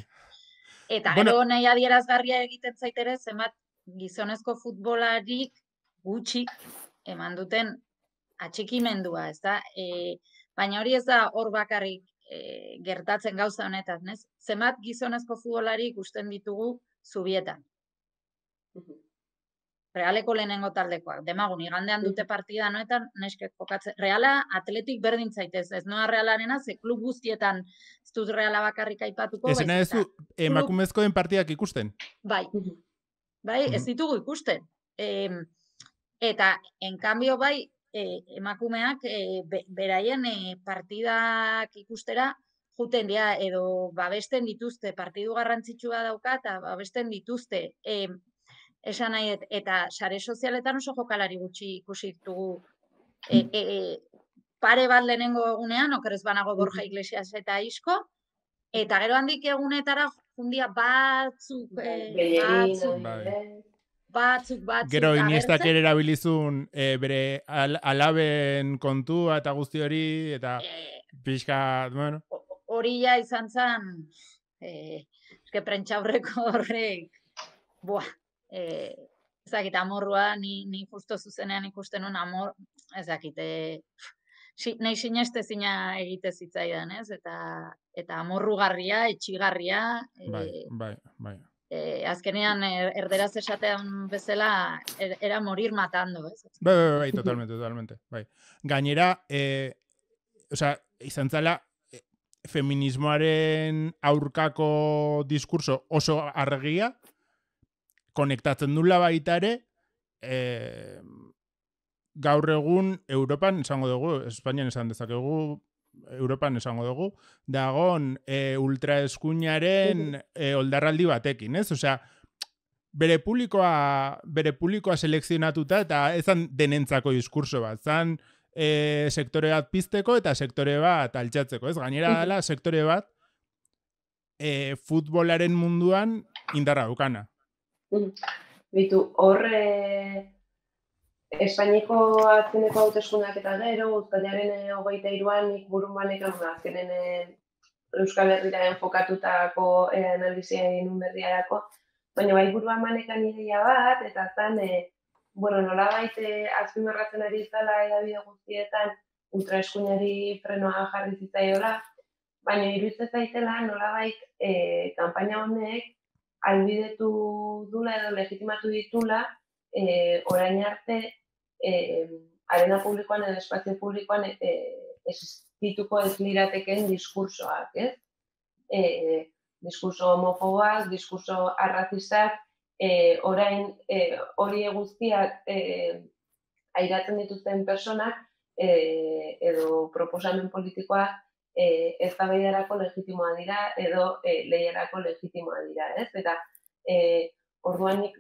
Eta bueno, gero nahi adierazgarria egiten zaitere, zenbat gizonezko futbolarik gutxi eman duten atxikimendua, ez da? E, baina hori ez da hor bakarrik e, gertatzen gauza honetan, ez? Zenbat gizonezko futbolari ikusten ditugu Zubietan. Realeko lehenengo taldekoak. Demagun, igandean dute partida noetan, neskek jokatzen. Reala atletik berdin zaitez, ez noa Realarena, ze klub guztietan ez dut Reala bakarrik aipatuko. Ezena ez du emakumezkoen partidak ikusten? Bai, bai, ez ditugu ikusten. E, eta, enkambio bai, e, emakumeak e, be, beraien e, partidak ikustera juten dira, edo babesten dituzte, partidu garrantzitsua dauka, eta babesten dituzte. E, esan nahi, eta sare sozialetan oso jokalari gutxi ikusi ditugu. E, e, pare bat lehenengo egunean, okerez banago Borja Iglesias eta Isko, eta gero handik egunetara jundia batzuk, e, batzuk, batzuk, batzuk. Gero Iniestak ere erabilizun e, bere al, alaben kontua eta guzti hori, eta e, pixka, bueno. Hori ja izan zen, e, eske prentxaurreko horrek, buah, e, ezakit, amorrua, ni, ni justo zuzenean ikusten un amor, ezakit, e, si, nahi sineste zina egite zitzaidan, ez? Eta, eta amorrugarria, etxigarria. E, bai, bai, bai. E, azkenean, er, erderaz esatean bezala, er, era morir matando, ez? Bai, bai, bai, totalmente, totalmente, bai. Gainera, e, osea, izan zala, feminismoaren aurkako diskurso oso argia, konektatzen dula baita ere, e, gaur egun Europan esango dugu, Espainian esan dezakegu, Europan esango dugu, dagon e, ultraeskuinaren e, oldarraldi batekin, ez? Osea, bere publikoa, bere publikoa selekzionatuta eta ezan denentzako diskurso bat, zan E, sektore bat pizteko eta sektore bat altxatzeko, ez? Gainera dela sektore bat e, futbolaren munduan indarra dukana. Bitu, hor e, Espainiko azkeneko hauteskundeak eta gero, uztailaren hogeita hiruan nik burun banekan azkenen e, Euskal Herrira enfokatutako e, analizia egin berriarako, baina bai buruan banekan ideia bat, eta zan e, bueno, nolabait azpimarratzen ari izala edabide guztietan ultraeskuinari frenoa jarri zitzaiola, baina iruditzen zaitela nolabait e, kanpaina honek albidetu dula edo legitimatu ditula e, orain arte e, arena publikoan edo espazio publikoan e, existituko ez lirateken diskursoak, ez? E, diskurso homofoboak, diskurso arrazistak, e, orain e, hori guztiak e, airatzen dituzten personak e, edo proposamen politikoak e, eztabaidarako legitimoa dira edo e, lehiarako legitimoa dira, ez? Eta e, orduan nik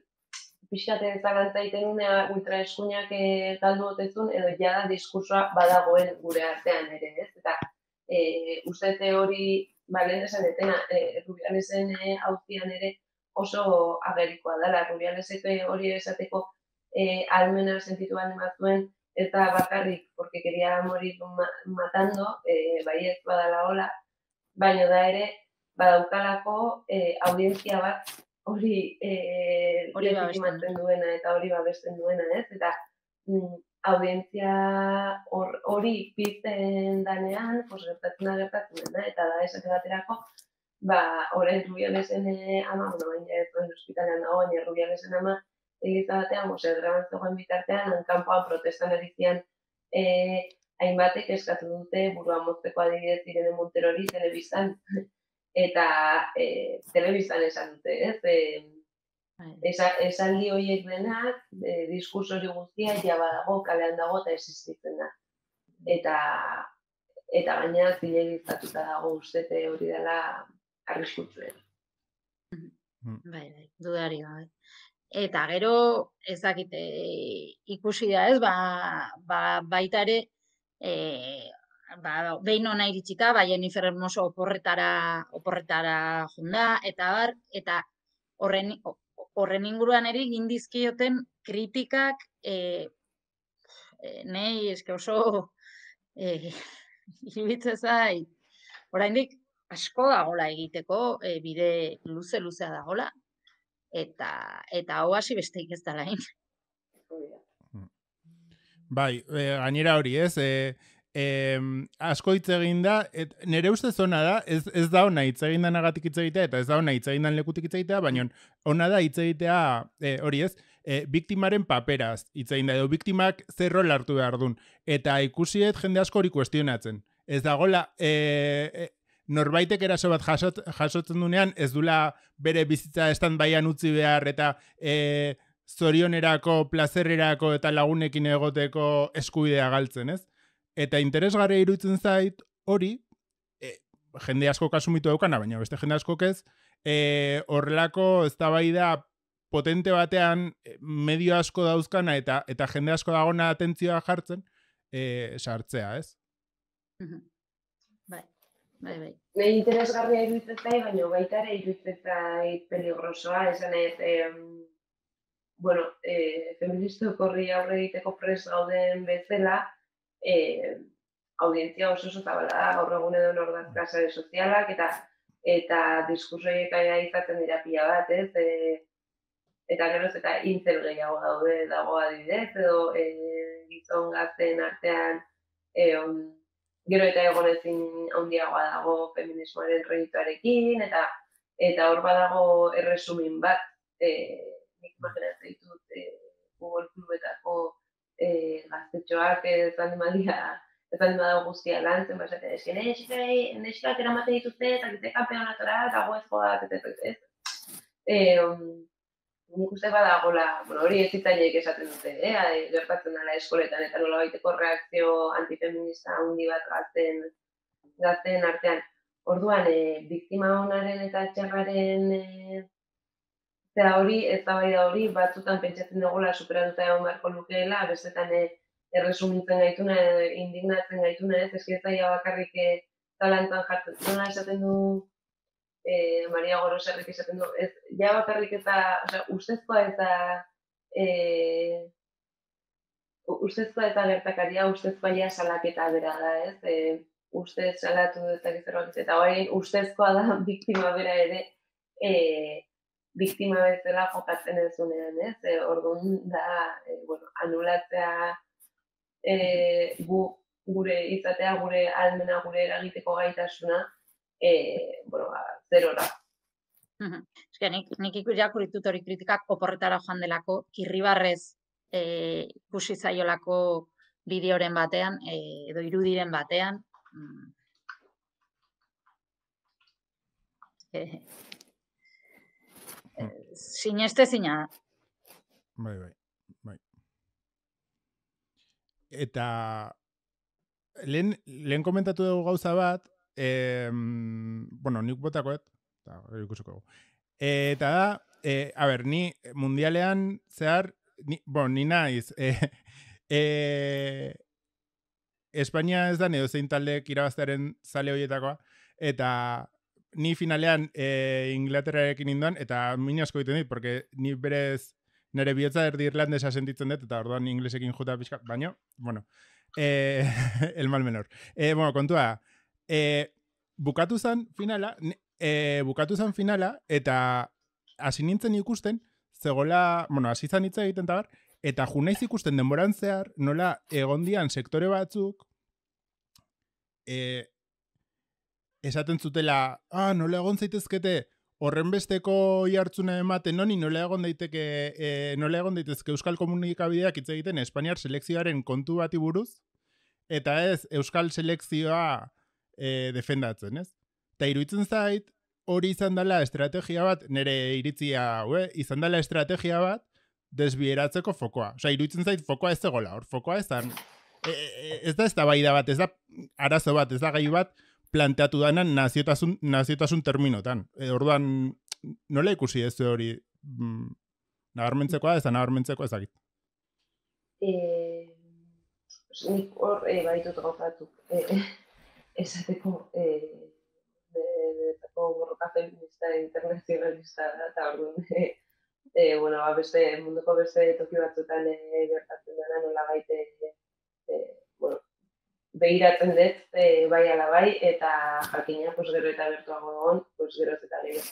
pixkate zalantza egiten unea ultraeskuinak e, galdu otezun edo jada diskursoa badagoen gure artean ere, ez? Eta e, uste hori, ba, lehen esan etena, e, Rubialesen e, auzian ere oso agerikoa dela. Rubialesek hori esateko e, almena sentitu baldin bazuen, eta bakarrik, porque quería morir matando, e, bai ez badala hola, baina da ere, badaukalako e, audientzia bat hori e, legitimatzen duena eta hori babesten duena, ez? Eta mm, audientzia hori or, pizten danean, pues, gertatzen da gertatzen dena, eta da esate baterako, ba, orain Rubialesen ama, bueno, baina ez duen hospitalean dago, baina Rubialesen ama, Eliza batean, mose, graban zegoen bitartean, hankanpoan protestan erizian eh, hainbatek eskatu dute burua mozteko adibidez Irene Monterori telebistan. Eta eh, telebistan esan dute, ez? Eh, esa, esaldi horiek denak, eh, diskurso hori guztia, ja badago, kalean dago eta existitzen da. Eta, eta gaina zilegizatuta dago ustete hori dela arriskutsuen. Bai, bai, dudari gabe. Eta gero, ezakite, ikusi da ez, ba, ba, baita ere, e, ba, behin hona iritsita, ba, Jennifer Hermoso oporretara, oporretara junda, eta bar, eta horren, horren inguruan ere gindizkioten kritikak, e, e, nei, eske oso, e, iribitze zait, oraindik asko dagola egiteko, e, bide luze-luzea dagola, eta eta hau hasi besteik ez dela hain. Bai, e, gainera hori, ez? E, e, asko hitz egin da, et, nire ustez ona da, ez, ez da ona hitz egin danagatik hitz egitea, eta ez da ona hitz egin dan lekutik hitz egitea, baina ona da hitz egitea, e, hori ez, e, biktimaren paperaz hitz egin da, edo biktimak zer rol hartu behar dun, eta ikusiet jende asko hori kuestionatzen. Ez dagoela, e, e, norbaitek eraso bat jasot, jasotzen dunean, ez dula bere bizitza stand-byan utzi behar, eta e, zorionerako, plazerrerako eta lagunekin egoteko eskubidea galtzen, ez? Eta interesgarria iruditzen zait hori, e, jende asko kasumitu daukana, baina beste jende askok ez, e, horrelako eztabaida potente batean medio asko dauzkana eta eta jende asko dagona atentzioa jartzen, e, sartzea, ez? Bai. Bai, bai. Nei interesgarria iruditzen zait, baina baita ere iruditzen zait peligrosoa, esan ez, eh, bueno, eh, feministok horri aurre egiteko prest gauden bezala, eh, audientzia oso oso zabala da, gaur egun edo nordazka sare sozialak, eta eta diskursoiek izaten dira pila bat, ez? Eh, eta geroz eta intzel gehiago daude dago adibidez, edo eh, gizon gazten artean eh, on, gero eta egonezin handiagoa dago feminismoaren proiektuarekin, eta eta hor badago erresumin bat, e, nik imaginatzen ditut e, Google Clubetako e, gaztetxoak ez animalia, ez animalia guztia lan, zen basatea, eski neskak eramaten dituzte, eta gite kampeonatora, eta goezko bat, eta ez. E, nik uste badagola, bueno, hori ez zitzaileek esaten dute, eh? Gertatzen dela eskoletan, eta nola baiteko reakzio antifeminista handi bat gazten, gazten artean. Orduan, e, biktima honaren eta txarraren e, zera hori, ez da bai da hori, batzutan pentsatzen dugula superatuta egon beharko lukeela, bestetan e, erresumintzen gaituna, indignatzen gaituna, ez, eskiezaia bakarrik e, talantan jartzen. Nola esaten du, Eh, Maria Goroserrik esaten du, ez, ja bakarrik eta, osea, ustezkoa eta eh, ustezkoa eta gertakaria, ustezkoa ja salaketa bera da, ez, eh, ustez salatu ezak zerbait, eta hori ustezkoa da biktima bera ere eh, biktima bezala jokatzen ez dunean, ez, eh, orduan da, eh, bueno, anulatzea eh, gu, gure izatea, gure almena, gure eragiteko gaitasuna, Eh, bueno, ba, zerora. Eske, nik, nik irakurri dut hori kritikak oporretara joan delako, Irribarrez eh, ikusi zaiolako bideoren batean, eh, edo irudiren batean. Mm. Eh, eh, sineste zina. Bai, bai, bai. Eta lehen, lehen komentatu dugu gauza bat, eh, bueno, nik botakoet, eta ikusiko dugu. Eta da, eh, a ber, ni mundialean zehar, ni, bueno, ni naiz, eh, eh, Espainia ez da edo zein taldeek irabaztearen zale horietakoa, eta ni finalean eh, Inglaterrarekin indoan, eta min asko egiten dit, porque ni berez nire bihotza erdi irlandesa sentitzen dut, eta orduan inglesekin juta pixka, baino, bueno, eh, el mal menor. Eh, bueno, kontua, eh, bukatu zen finala, eh, bukatu zen finala, eta hasi nintzen ikusten, zegoela, bueno, hasi zan hitza egiten tabar, eta junaiz ikusten denboran zehar, nola egondian sektore batzuk, eh, esaten zutela, ah, nola egon zaitezkete, horren besteko jartzuna ematen noni, nola egon daiteke, eh, nola egon daitezke Euskal Komunikabideak hitz egiten Espainiar selekzioaren kontu bati buruz, eta ez Euskal selekzioa eh, defendatzen, ez? Eta iruditzen zait, hori izan dela estrategia bat, nire iritzia, hue, izan dela estrategia bat, desbieratzeko fokoa. Osa, iruditzen zait, fokoa ez zegoela, hor, fokoa ez da, e, e, ez da ez da baida bat, ez da arazo bat, ez da gai bat, planteatu danan naziotasun, naziotasun terminotan. E, orduan, nola ikusi ez hori mm, nabarmentzekoa, ez da nabarmentzekoa ezagit? Eh, nik hor, eh, baitut gauzatu. Eh, esateko, eh, benetako borroka feminista internazionalista da, eta orduan, eh, eh, bueno, ba, beste, munduko beste toki batzuetan eh, gertatzen dena nola baite, eh, bueno, behiratzen dut, e, bai ala bai, eta jakina, pues, gero eta bertuago egon, pues, gero eta lege.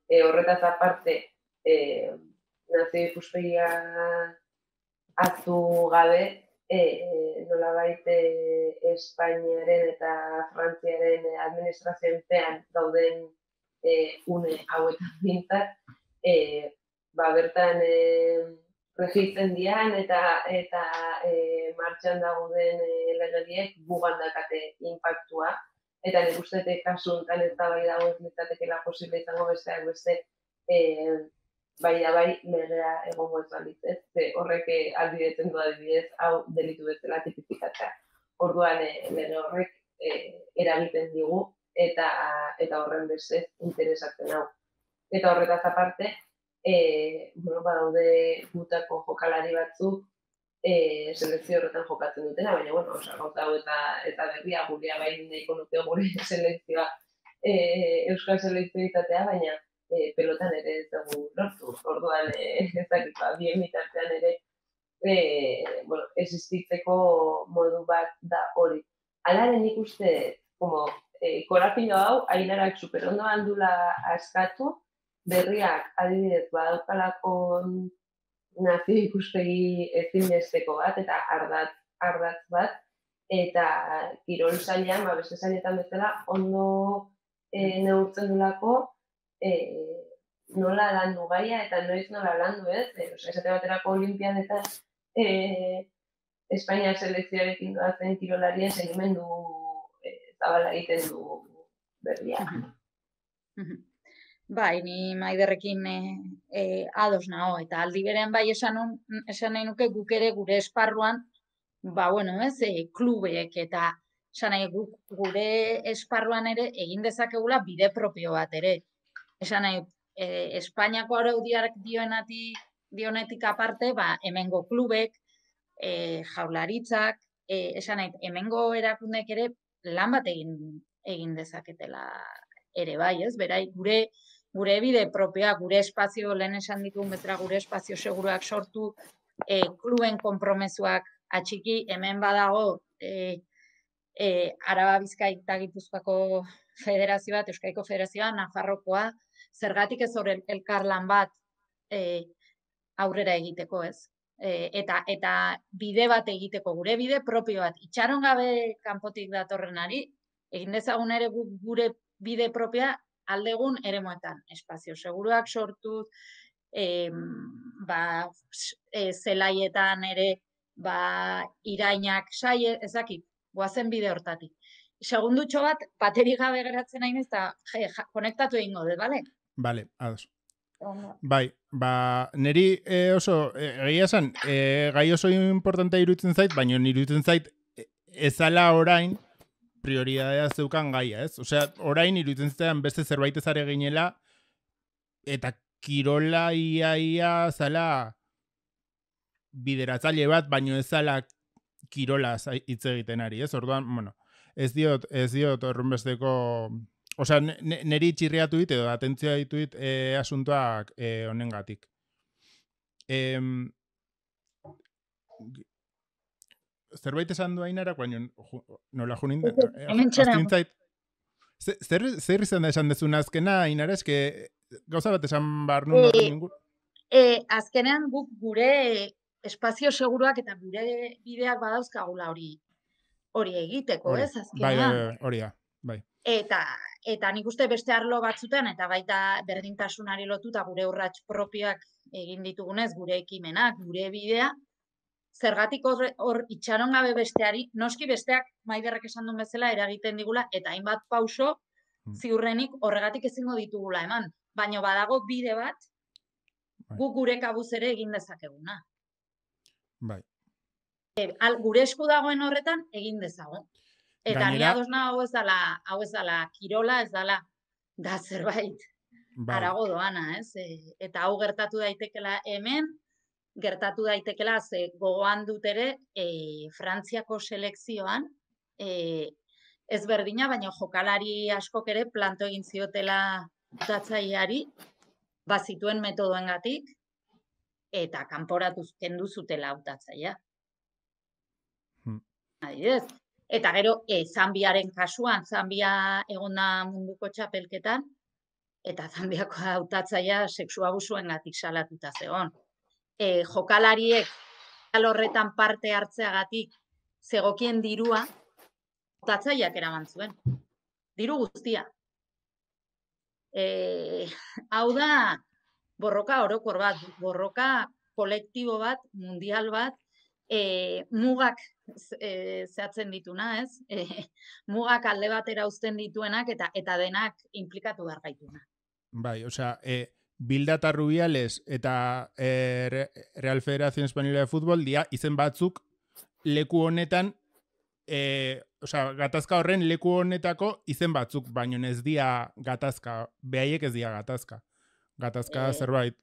E, horretaz aparte, e, nazio ikuspegia hartu gabe, e, nola baite Espainiaren eta Frantziaren administrazioenpean dauden e, une hauetan bintzat, e, ba, bertan e, regitzen dian eta eta e, martxan dagoen e, legediek gugan dakate inpaktua. Eta nik uste dut kasu honetan ez da bai dago ez litzatekeela posible izango besteak beste e, bai da bai legea egongo ez balitzez. Ze horrek albidetzen du adibidez hau delitu bezala tipifikatzea. Orduan e, lege horrek e, eragiten digu eta eta horren beste interesatzen hau. Eta horretaz aparte, E, bueno, badaude gutako jokalari batzuk e, selekzio horretan jokatzen dutena, baina, bueno, osa, gauza hau eta, eta berria gurea bain nahiko nuke gure selekzioa e, Euskal selekzio izatea, baina e, pelotan ere ez dugu lortu. Orduan, e, ez dakit, ba, bien bitartean ere e, bueno, existitzeko modu bat da hori. Alaren ikuste, como, e, korapilo hau, Ainarak superondo handula askatu, berriak adibidez badaukalako nazio ikuspegi ezinbesteko bat eta ardatz, ardatz bat, eta kirol sailean, ba, beste sailetan bezala, ondo e, neurtzen dulako e, nola landu gaia eta noiz nola landu ez. E, oza, esate baterako olimpiadetan e, Espainia selekzioarekin doazen kirolarien sentimendu e, zabala egiten du berriak. Bai, ni Maiderrekin e, e, ados nago, eta aldi berean bai esan, un, esan nahi nuke guk ere gure esparruan, ba, bueno, ez, e, klubek eta esan nahi guk gure esparruan ere egin dezakegula bide propio bat ere. Esan nahi, e, Espainiako araudiak dioenetik, dionetik aparte, ba, hemengo klubek, e, jaularitzak, e, esan nahi, hemengo erakundek ere lan bat egin, egin dezaketela ere bai, ez, berai, gure gure bide propioa, gure espazio, lehen esan dituen bezala, gure espazio seguruak sortu, e, kluben konpromezuak atxiki, hemen badago e, e, Araba Bizkai eta Gipuzkoako federazio bat, Euskaiko federazioa, Nafarrokoa, zergatik ez hor elkarlan bat e, aurrera egiteko, ez? E, eta, eta bide bat egiteko, gure bide propio bat, itxaron gabe kanpotik datorrenari, egin dezagun ere gure bide propioa aldegun eremuetan, espazio seguruak sortuz, e, ba, e, zelaietan ere, ba, irainak saie, ezakit, goazen bide hortatik. Segundutxo bat, baterik gabe geratzen nahi ez, eta konektatu egingo dut, bale? Bale, ados. Bai, ba, niri e, oso, egia esan, e, gai oso importantea iruditzen zait, baina iruditzen zait ezala orain prioridadea zeukan gaia, ez? Osea, orain iruditzen zaitan beste zerbait ezare ginela, eta kirola ia ia zala bideratzaile bat, baino ez zala kirola hitz egiten ari, ez? Orduan, bueno, ez diot, ez diot horrenbesteko... Osea, neri txirriatu dit edo atentzioa dituit e, asuntoak e, honengatik. E, zerbait esan du Ainara, baina nola junin... Hemen txera. Zer, zer izan da esan dezuna azkena, Ainara, eske gauza bat esan behar nun horren ingur? E, azkenean guk gure espazio seguruak eta gure bideak badauzkagula hori hori egiteko, ez, azkenean. Bai, bai, hori da, bai. Eta, eta nik uste beste arlo batzutan, eta baita berdintasunari lotuta gure urrats propioak egin ditugunez, gure ekimenak, gure bidea, zergatik hor, hor itxaron gabe besteari, noski besteak Maiderrek esan duen bezala eragiten digula, eta hainbat pauso ziurrenik horregatik ezingo ditugula eman. Baina badago bide bat, guk gure kabuz ere egin dezakeguna. Bai. E, al, gure esku dagoen horretan egin dezago. Eta Gainera, ni ados hau ez dala, hau ez dala kirola, ez dala da zerbait bai. Arago doana, ez? E, eta hau gertatu daitekela hemen, gertatu daitekela ze gogoan dut ere e, Frantziako selekzioan e, ez berdina, baina jokalari askok ere planto egin ziotela utatzaileari bazituen metodoengatik eta kanporatu kendu zutela utatzailea. Hmm. Adibidez. Eta gero, e, Zambiaren kasuan, Zambia egon da munduko txapelketan, eta Zambiako hautatzailea sexu abusuengatik salatuta zegoen. E, jokalariek horretan parte hartzeagatik zegokien dirua, hautatzaileak eraman zuen. Diru guztia. E, hau da, borroka orokor bat, borroka kolektibo bat, mundial bat, E, mugak e, zehatzen dituna, ez? E, mugak alde batera uzten dituenak eta eta denak implikatu behar gaituna. Bai, osea, e, Bilda eta Rubiales eta e, Real Federación Española de Fútbol dia izen batzuk leku honetan, e, osea, gatazka horren leku honetako izen batzuk, baino ez dia gatazka, behaiek ez dia gatazka. Gatazka e... zerbait.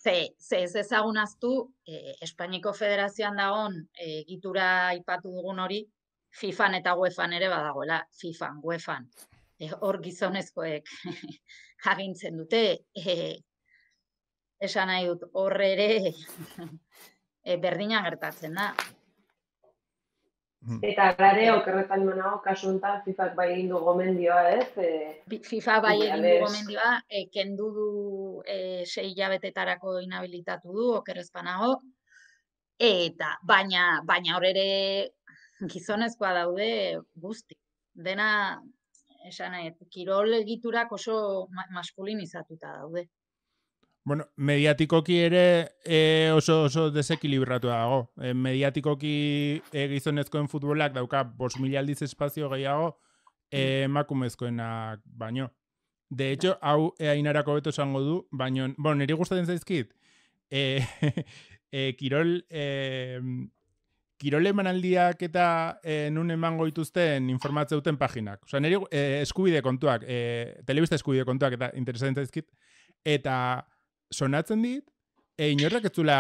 Ze, ze ez ezagunaztu, eh, Espainiko Federazioan dagoen eh, gitura aipatu dugun hori, FIFAn eta UEFAn ere badagoela, FIFAn, UEFAn. Eh, hor gizonezkoek agintzen dute, eh, esan nahi dut, hor ere eh, berdina gertatzen da. Eta gare, okerretan manago, kasu honetan, FIFak bai egin du gomendioa, ez? E, FIFA bai egin du gomendioa, e, kendu du e, sei hilabetetarako inhabilitatu du, okerrezpanago, eta baina baina hor ere gizonezkoa daude guzti. Dena, esan nahi, kirol egiturak oso maskulinizatuta daude. Bueno, mediatikoki ere e, oso, oso desekilibratu dago. E, mediatikoki e, gizonezkoen futbolak dauka bost mila aldiz espazio gehiago e, emakumezkoenak baino. De hecho, hau e, Ainarako beto esango du, baino, bueno, niri gustatzen zaizkit, e, e, kirol, e, kirol emanaldiak eta e, nun emango dituzten informatzeuten paginak. Osa, niri e, eskubide kontuak, e, telebista eskubide kontuak eta interesatzen zaizkit, eta sonatzen dit, e, inorrak ez zula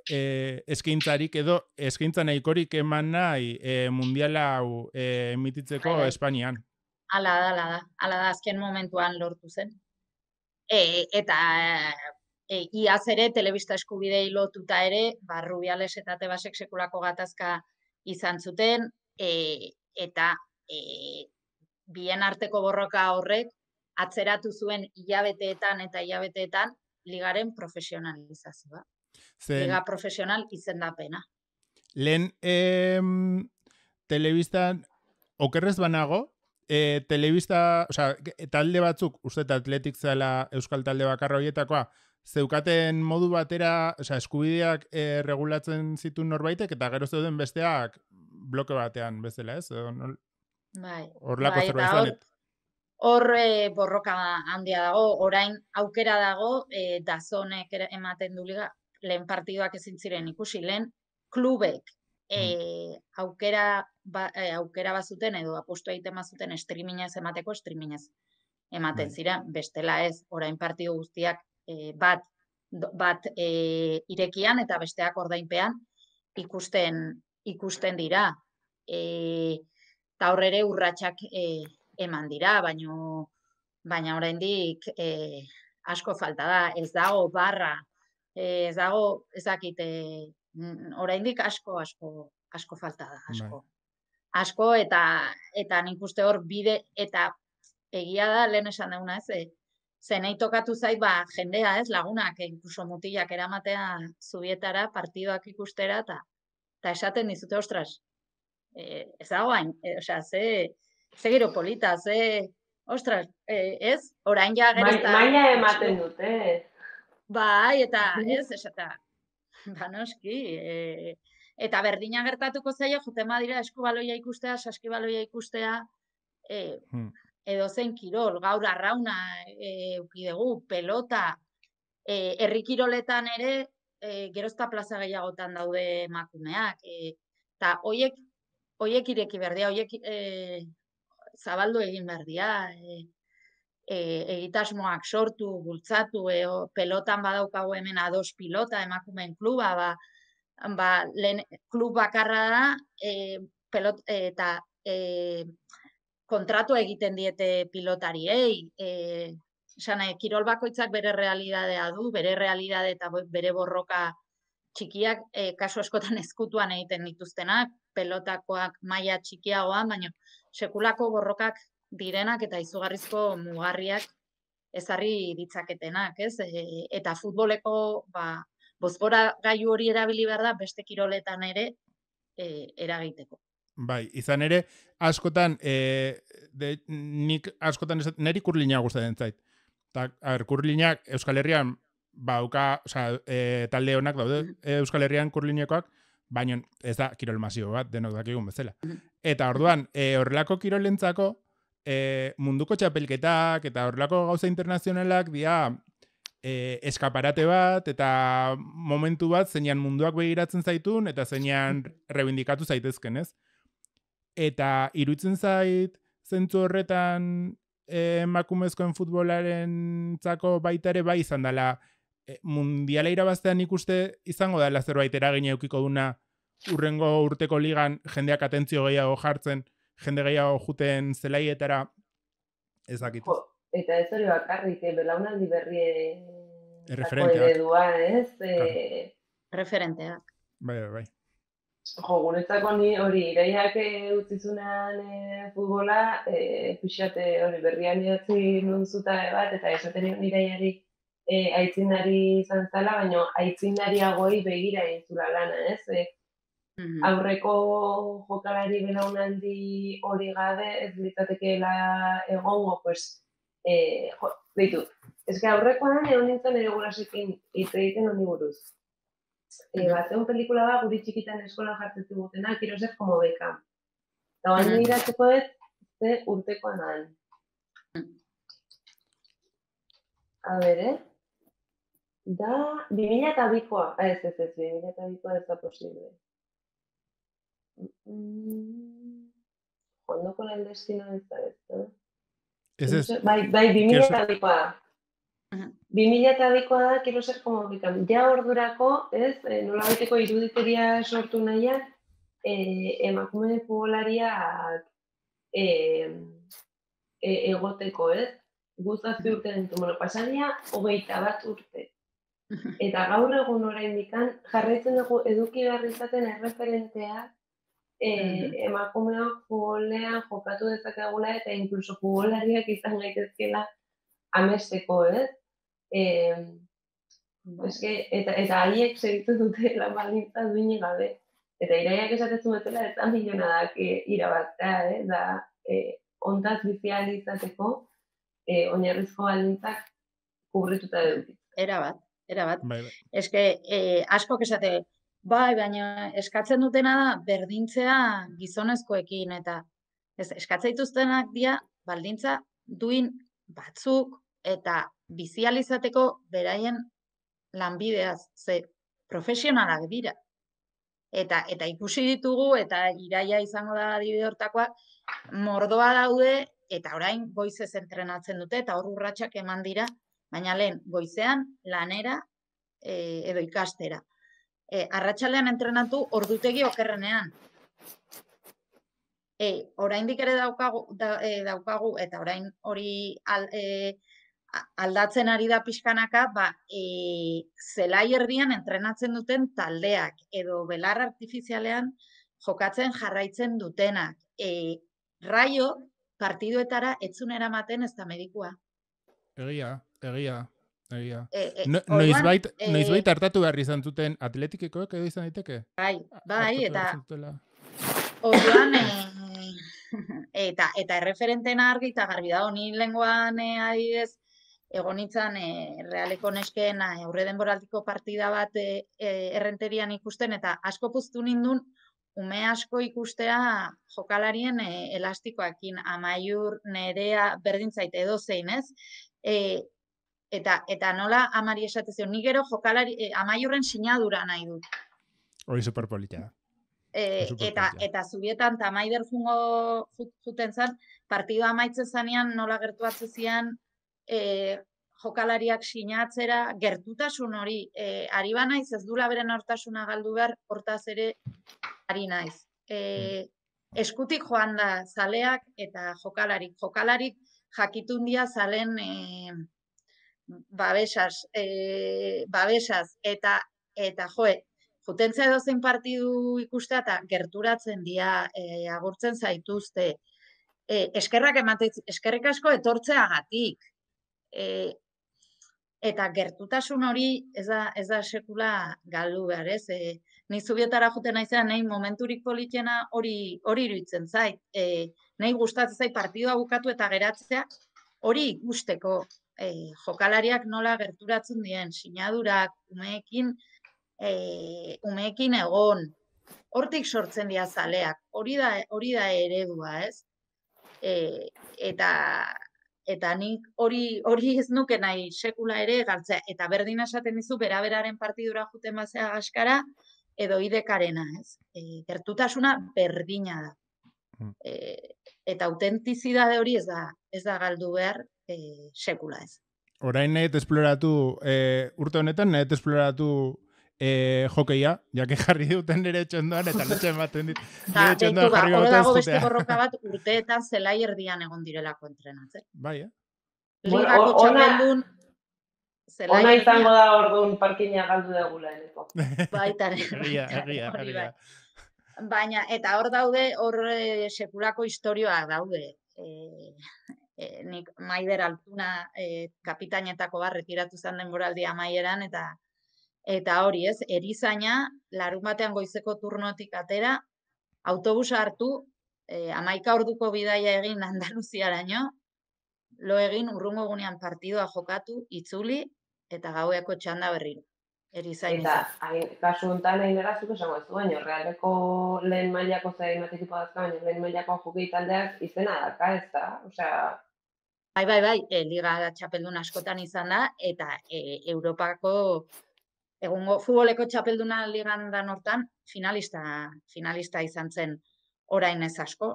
e, eskaintzarik edo eskaintza nahikorik eman nahi e, mundiala hau e, emititzeko Ai, Espainian. Ala da, ala da, ala da azken momentuan lortu zen. E, eta e, iaz ere, telebista eskubidei lotuta ere, ba, Rubiales eta Tebasek sekulako gatazka izan zuten, e, eta e, bien arteko borroka horrek atzeratu zuen hilabeteetan eta hilabeteetan ligaren profesionalizazioa. Zen, Liga profesional izendapena. Lehen eh, telebistan, okerrez banago, eh, telebista, osea, talde batzuk, uste eta Atletik zela euskal talde bakarra horietakoa, zeukaten modu batera, osea, eskubideak eh, regulatzen zituen norbaitek, eta gero zeuden besteak bloke batean bezala, ez? Bai. Horlako bai, zerbait zanet. hor e, borroka handia dago, orain aukera dago, e, dazonek ematen du liga, lehen partiduak ezin ziren ikusi, lehen klubek e, aukera, ba, e, aukera bazuten edo apostu egiten bazuten streamingez emateko, streamingez ematen zira, bestela ez, orain partidu guztiak e, bat, bat e, irekian eta besteak ordainpean ikusten, ikusten dira. E, eta hor ere urratsak e, eman dira, baino, baina oraindik e, asko falta da, ez dago barra, e, ez dago, ezakite, oraindik asko, asko, asko falta da, asko. Asko, eta, eta nik uste hor bide, eta egia da, lehen esan duguna, ez, e, zenei tokatu zait, ba, jendea, ez, lagunak, incluso mutilak eramatea zubietara, partidoak ikustera, eta eta esaten dizute, ostras, e, ez dago hain, e, osea, ze, ze gero polita, ze, ostras, e, ez, orain ja gerezta... Maila ematen dute. Bai, eta ez, esata, ba noski, e, eta berdina gertatuko zaio, joten badira eskubaloia ikustea, saskibaloia ikustea, e, hmm. edo zen kirol, gaur arrauna e, ukidegu, pelota, e, herri kiroletan ere, e, gerozta plaza gehiagotan daude emakumeak, e, eta hoiek, hoiek ireki berdia, hoiek e, zabaldu egin berdia, e, e, egitasmoak sortu, bultzatu, e, o, pelotan badaukago hemen ados pilota, emakumeen kluba, ba, ba, lehen, klub bakarra da, e, pelot, e, eta e, kontratu egiten diete pilotariei, e, esan, e, kirol bakoitzak bere realidadea du, bere realidade eta bere borroka txikiak, e, kasu askotan ezkutuan egiten dituztenak, pelotakoak maila txikiagoan, baina sekulako borrokak direnak eta izugarrizko mugarriak ezarri ditzaketenak, ez? E, eta futboleko, ba, bozgora gailu hori erabili behar da, beste kiroletan ere e, eragiteko. Bai, izan ere, askotan, e, de, nik askotan, niri kurlina gustatzen zait. Ta, a ber, kurlinak Euskal Herrian, bauka, oza, e, talde honak daude, Euskal Herrian kurlinekoak, baina ez da kirol masio bat, denok dakigun bezala. Eta orduan, e, horrelako kirolentzako, e, munduko txapelketak eta horrelako gauza internazionalak dia e, eskaparate bat eta momentu bat zeinan munduak begiratzen zaitun eta zeinan rebindikatu zaitezken, ez? Eta iruditzen zait zentzu horretan emakumezkoen futbolaren zako baita ere bai izan dela e, mundiala irabaztean ikuste izango dela zerbait eragina eukiko duna urrengo urteko ligan jendeak atentzio gehiago jartzen, jende gehiago juten zelaietara ezakit. Eta ez hori bakarrik, eh, belaunaldi berrien referenteak. Eredua, ez? Claro. E... Referenteak. Bai, bai, bai. Jo, guretzako ni hori, iraiak utzizunan e, futbola, e, pixate hori berrian idatzi nunzuta bat, eta esaten iraiari e, aitzindari izan zala, baina aitzindariagoi begira intzula lana, ez? E, mm-hmm. Aurreko jokalari belaunaldi hori gabe, ez litzatekeela egongo, pues, e, jo, ditu. Ez que aurrekoan egon nintzen ere gurasekin hitz egiten honi buruz. E, bat, egun pelikula bat guri txikitan eskolan jartzetu gutena, quiero ser como Beckham. Eta baina mm-hmm. iratzeko ez, ze urtekoan han. A ber, eh? Da, bi mila eta bikoa. Ah, ez, ez, ez, bi mila eta bikoa ez da posible. Mm, Jondo con el destino ez da ez, eh? Ez ez. Bai, bai, bi mila eta bikoa da. Bi mila eta bikoa da, quiero ser como Beckham. Ja ordurako, ez, e, nola baiteko iruditeria sortu nahian, e, emakume futbolariak e, e, egoteko, ez? Guztazpi urte dintu, bueno, pasaria, hogeita bat urte. Eta gaur egun oraindikan jarraitzen dugu eduki behar izaten erreferentea e, emakumeak futbolean jokatu dezakegula eta inkluso futbolariak izan gaitezkela amesteko, ez? Eh, eske, eta eta haiek segitu dute lan baldintza duine gabe. Eta iraiak esatezu betela ez da milionadak e, irabaztea, eh? Da, eh, ontaz bizial izateko eh, oinarrizko baldintzak kubrituta eduki. Era bat, era bat. Bai, bai. Eske, eh, asko esate, bai, baina eskatzen dutena da berdintzea gizonezkoekin eta ez eskatzen dituztenak dira baldintza duin batzuk eta bizializateko beraien lanbideaz, ze profesionalak dira. Eta eta ikusi ditugu, eta Iraia izango da adibide hortakoa, mordoa daude, eta orain goizez entrenatzen dute, eta hor urratsak eman dira, baina lehen goizean lanera e, edo ikastera. E, arratsaldean entrenatu ordutegi okerrenean. E, oraindik ere daukagu, da, e, daukagu eta orain hori al, e, aldatzen ari da pixkanaka, ba, e, zelai erdian entrenatzen duten taldeak, edo belar artifizialean jokatzen jarraitzen dutenak. E, Raio partiduetara etzun eramaten ez da medikua. Egia, egia, egia. E, e, no, orduan, noizbait, e, noizbait hartatu behar izan zuten atletikekoek edo izan daiteke? Bai, bai, Hartatu eta behar izan zutela. orduan, e, eta, eta erreferentena argi eta garbi dago, ni lenguan e, adibidez, egon nintzen e, Realeko nesken aurre denboraldiko partida bat e, e, errenterian ikusten, eta asko puztu nindun, ume asko ikustea jokalarien e, elastikoakin, Amaiur, Nerea, berdin zait edo zein, ez? E, eta, eta nola amari esatezio, ni gero jokalari, e, Amaiurren sinadura nahi dut. Hori superpolita. E, eta, eta zubietan tamaider jungo juten zen, partidua amaitzen zanean nola gertuatzen zian, e, jokalariak sinatzera, gertutasun hori, e, ari ba naiz, ez dula beren hortasuna galdu behar, hortaz ere ari naiz. E, eskutik joan da zaleak eta jokalarik. Jokalarik jakitun dia zalen e, babesaz, e, babesaz, eta, eta joe, jutentzea edozein partidu ikustea eta gerturatzen dira, e, agurtzen zaituzte, e, eskerrak ematen, eskerrik asko etortzeagatik, e, eta gertutasun hori ez da, ez da sekula galdu behar, ez? E, ni zubietara juten naizean, nahi momenturik politena hori hori iruditzen zait. E, nahi gustatzen zait partidua bukatu eta geratzea hori ikusteko, e, jokalariak nola gerturatzen dien, sinadurak, umeekin, e, umeekin egon, hortik sortzen dira zaleak, hori da, hori da eredua, ez? E, eta eta nik hori hori ez nuke nahi sekula ere galtzea, eta berdin esaten dizu beraberaren partidura juten bazea gaskara, edo idekarena, ez? E, gertutasuna berdina da. E, eta autentizidade hori ez da, ez da galdu behar e, sekula, ez. Orain nahi esploratu, e, urte honetan nahi esploratu e, jokeia, jake jarri duten nire txondoan, eta letxe ematen dit. Ta, deitu ba, hori dago beste borroka bat urteetan zelai erdian egon direlako entrenatzen. Bai, eh? Ligako txapeldun zelai ona izango da orduan parkina galdu degula eneko. Baitare. Egia, egia, egia. Baina, eta hor daude, hor e, sekulako historioak daude. E, e, nik Maider Altuna e, kapitainetako bat retiratu zen denboraldi amaieran, eta eta hori ez, erizaina, larun batean goizeko turnotik atera, autobusa hartu, e, amaika orduko bidaia egin Andaluziaraino, lo egin urrungo egunean partidua jokatu, itzuli, eta gaueko txanda berriro. Erizain eta hain, kasu honetan hain erazuk esango ez du, baina Realeko lehen mailako zain bat ekipo dazka, baina lehen mailako jokei taldeak izena daka, ez da? Osea... Bai, bai, bai, e, Liga txapeldun askotan izan da, eta e, Europako egungo futboleko txapelduna ligan dan hortan finalista, finalista izan zen orain ez asko.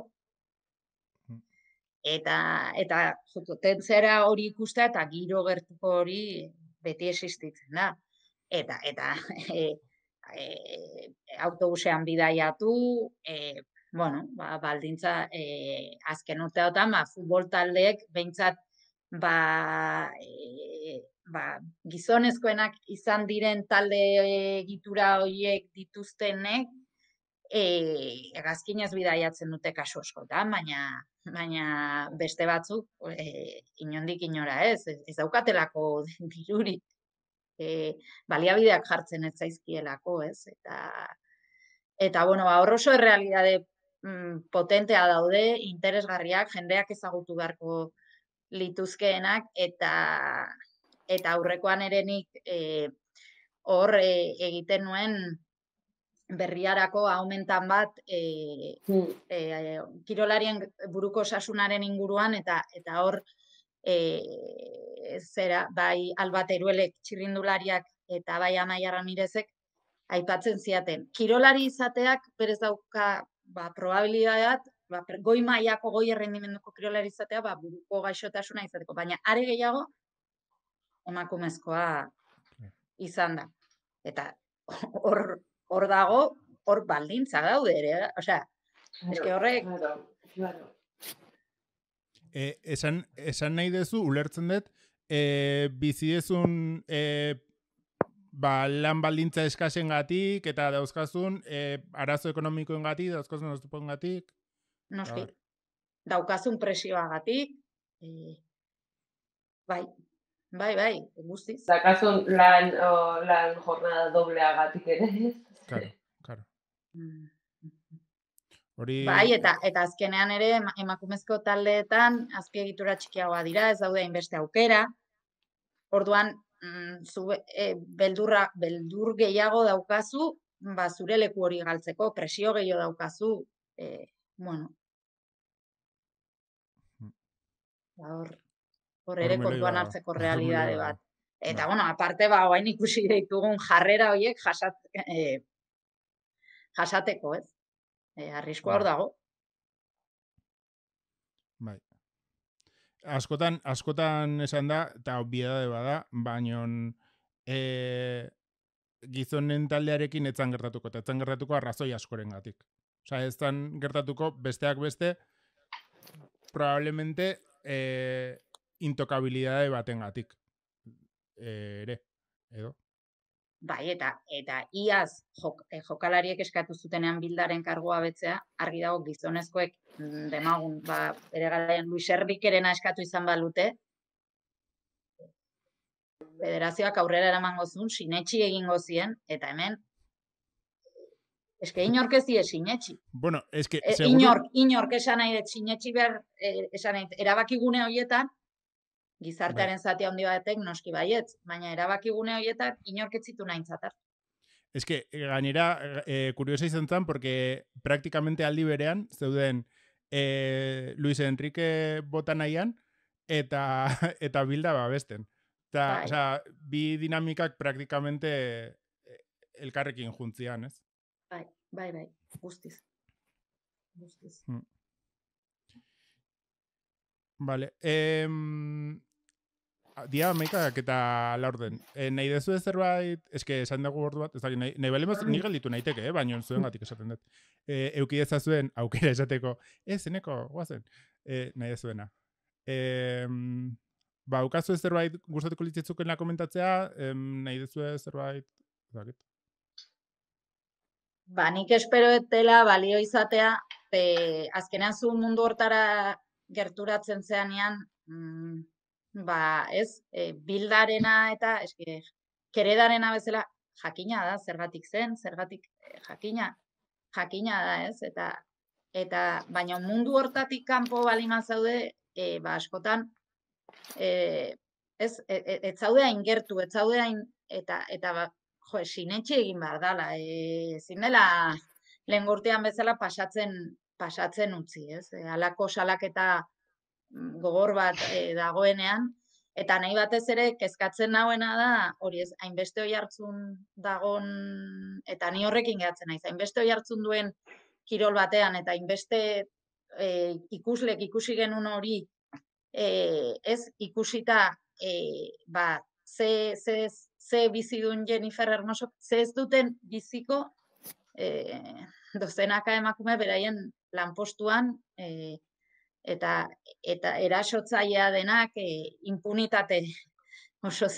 Eta, eta jutentzera hori ikustea eta giro gertuko hori beti existitzen da. Eta, eta e, e, autobusean bidaiatu, e, bueno, ba, baldintza e, azken urteotan, ba, futbol taldeek behintzat ba, e, ba, gizonezkoenak izan diren talde egitura horiek dituztenek, e, egazkinez bidaiatzen dute kasu askotan, baina, baina beste batzuk e, inondik inora ez, ez daukatelako dirurik. E, baliabideak jartzen ez zaizkielako, ez? Eta, eta bueno, ba, hor oso errealitate mm, potentea daude, interesgarriak, jendeak ezagutu beharko lituzkeenak, eta, eta aurrekoan ere nik e, hor e, egiten nuen berriarako aumentan bat e, e, kirolarien buruko osasunaren inguruan, eta, eta hor e, zera, bai Alba Teruelek txirrindulariak eta bai Amaia Ramirezek aipatzen ziaten. Kirolari izateak berez dauka ba, probabilidade bat, ba, goi mailako goi errendimenduko kirolari izatea ba, buruko gaixotasuna izateko, baina are gehiago emakumezkoa izan da. Eta hor, hor dago, hor baldintza daude ere, osea, eske horrek... Claro, claro. E, esan, esan nahi dezu, ulertzen dut, e, bizi dezun e, ba, lan baldintza eskasen gatik, eta dauzkazun e, arazo ekonomikoen gatik, dauzkazun oztupoen gatik. Noski, daukazun presioagatik, e, bai, bai, bai, guztiz. Dakazun lan, o, lan jornada dobleagatik ere. Claro, claro. Hori... Bai, eta eta azkenean ere emakumezko taldeetan azpiegitura txikiagoa dira, ez daude hainbeste aukera. Orduan, mm, zu, e, beldurra, beldur gehiago daukazu, ba, zure leku hori galtzeko, presio gehiago daukazu, e, bueno. Ba, hor, hor ere kontuan hartzeko realidade bat. Eta, bueno, aparte, ba, oain ikusi ditugun jarrera horiek jasat, e, jasateko, ez? E, arriskoa hor dago. Bai. Askotan, askotan esan da, eta obviedade bada, baino e, gizonen taldearekin etzan gertatuko, eta etzan gertatuko arrazoi askoren gatik. Osa, etzan gertatuko besteak beste, probablemente e, intokabilidade baten gatik. E, ere, edo? Bai, eta eta iaz jok, jokalariek eskatu zutenean Bildaren kargoa betzea, argi dago gizonezkoek demagun, ba, bere garaian Luis Erbikerena eskatu izan balute, federazioak aurrera eramango zuen, sinetxi egingo zien, eta hemen, eske inork ez die sinetxi. Bueno, eske, e, seguru... Inork, inork esan nahi dut sinetxi behar, e, esan nahi, erabakigune horietan, gizartearen zati handi batek noski baietz, baina erabakigune horietan inork ez zitu nahintzat hartu. Ez que, gainera, eh, kuriosa izan zen, porque praktikamente aldi berean, zeuden eh, Luis Enrique bota nahian, eta, eta Bilda babesten. Eta, Bai. osea, bi dinamikak praktikamente elkarrekin juntzian, ez? Bai, bai, bai, guztiz. Guztiz. Hmm. Vale. Eh, dia amaikak eta laurden. E, nahi dezu ez zerbait, eske esan dugu ordu bat, ez dakit, nahi, nahi balemos ni gelditu naiteke, eh? Baina zuen gatik esaten dut. E, euki ezazuen aukera esateko, ez, zeneko, guazen, e, nahi dezuena. E, ba, ukazu ez zerbait gustatuko litzetzukena komentatzea, em, nahi dezu ez zerbait, ez dakit. Ba, nik espero etela balio izatea, e, azkenean zu mundu hortara gerturatzen zeanean, mm, ba, ez, e, Bildarena eta eske, Keredarena bezala jakina da, zergatik zen, zergatik e, jakina, jakina da, ez, eta eta baina mundu hortatik kanpo balima zaude, e, ba, askotan, e, ez, ez, ez zaude hain gertu, ez zaude hain, eta, eta ba, jo, sinetxe egin behar dala, e, ezin dela lehen urtean bezala pasatzen, pasatzen utzi, ez, e, alako salaketa gogor bat e, dagoenean, eta nahi batez ere kezkatzen nauena da, hori ez, hainbeste hoi hartzun dagon, eta ni horrekin gehatzen naiz, hainbeste hoi hartzun duen kirol batean, eta hainbeste e, ikuslek ikusi genuen hori, e, ez ikusita, e, ba, ze, ze, ze bizidun Jennifer Hermoso, ze ez duten biziko, e, dozenaka emakume beraien lanpostuan, e, eta eta erasotzailea denak e, impunitate oso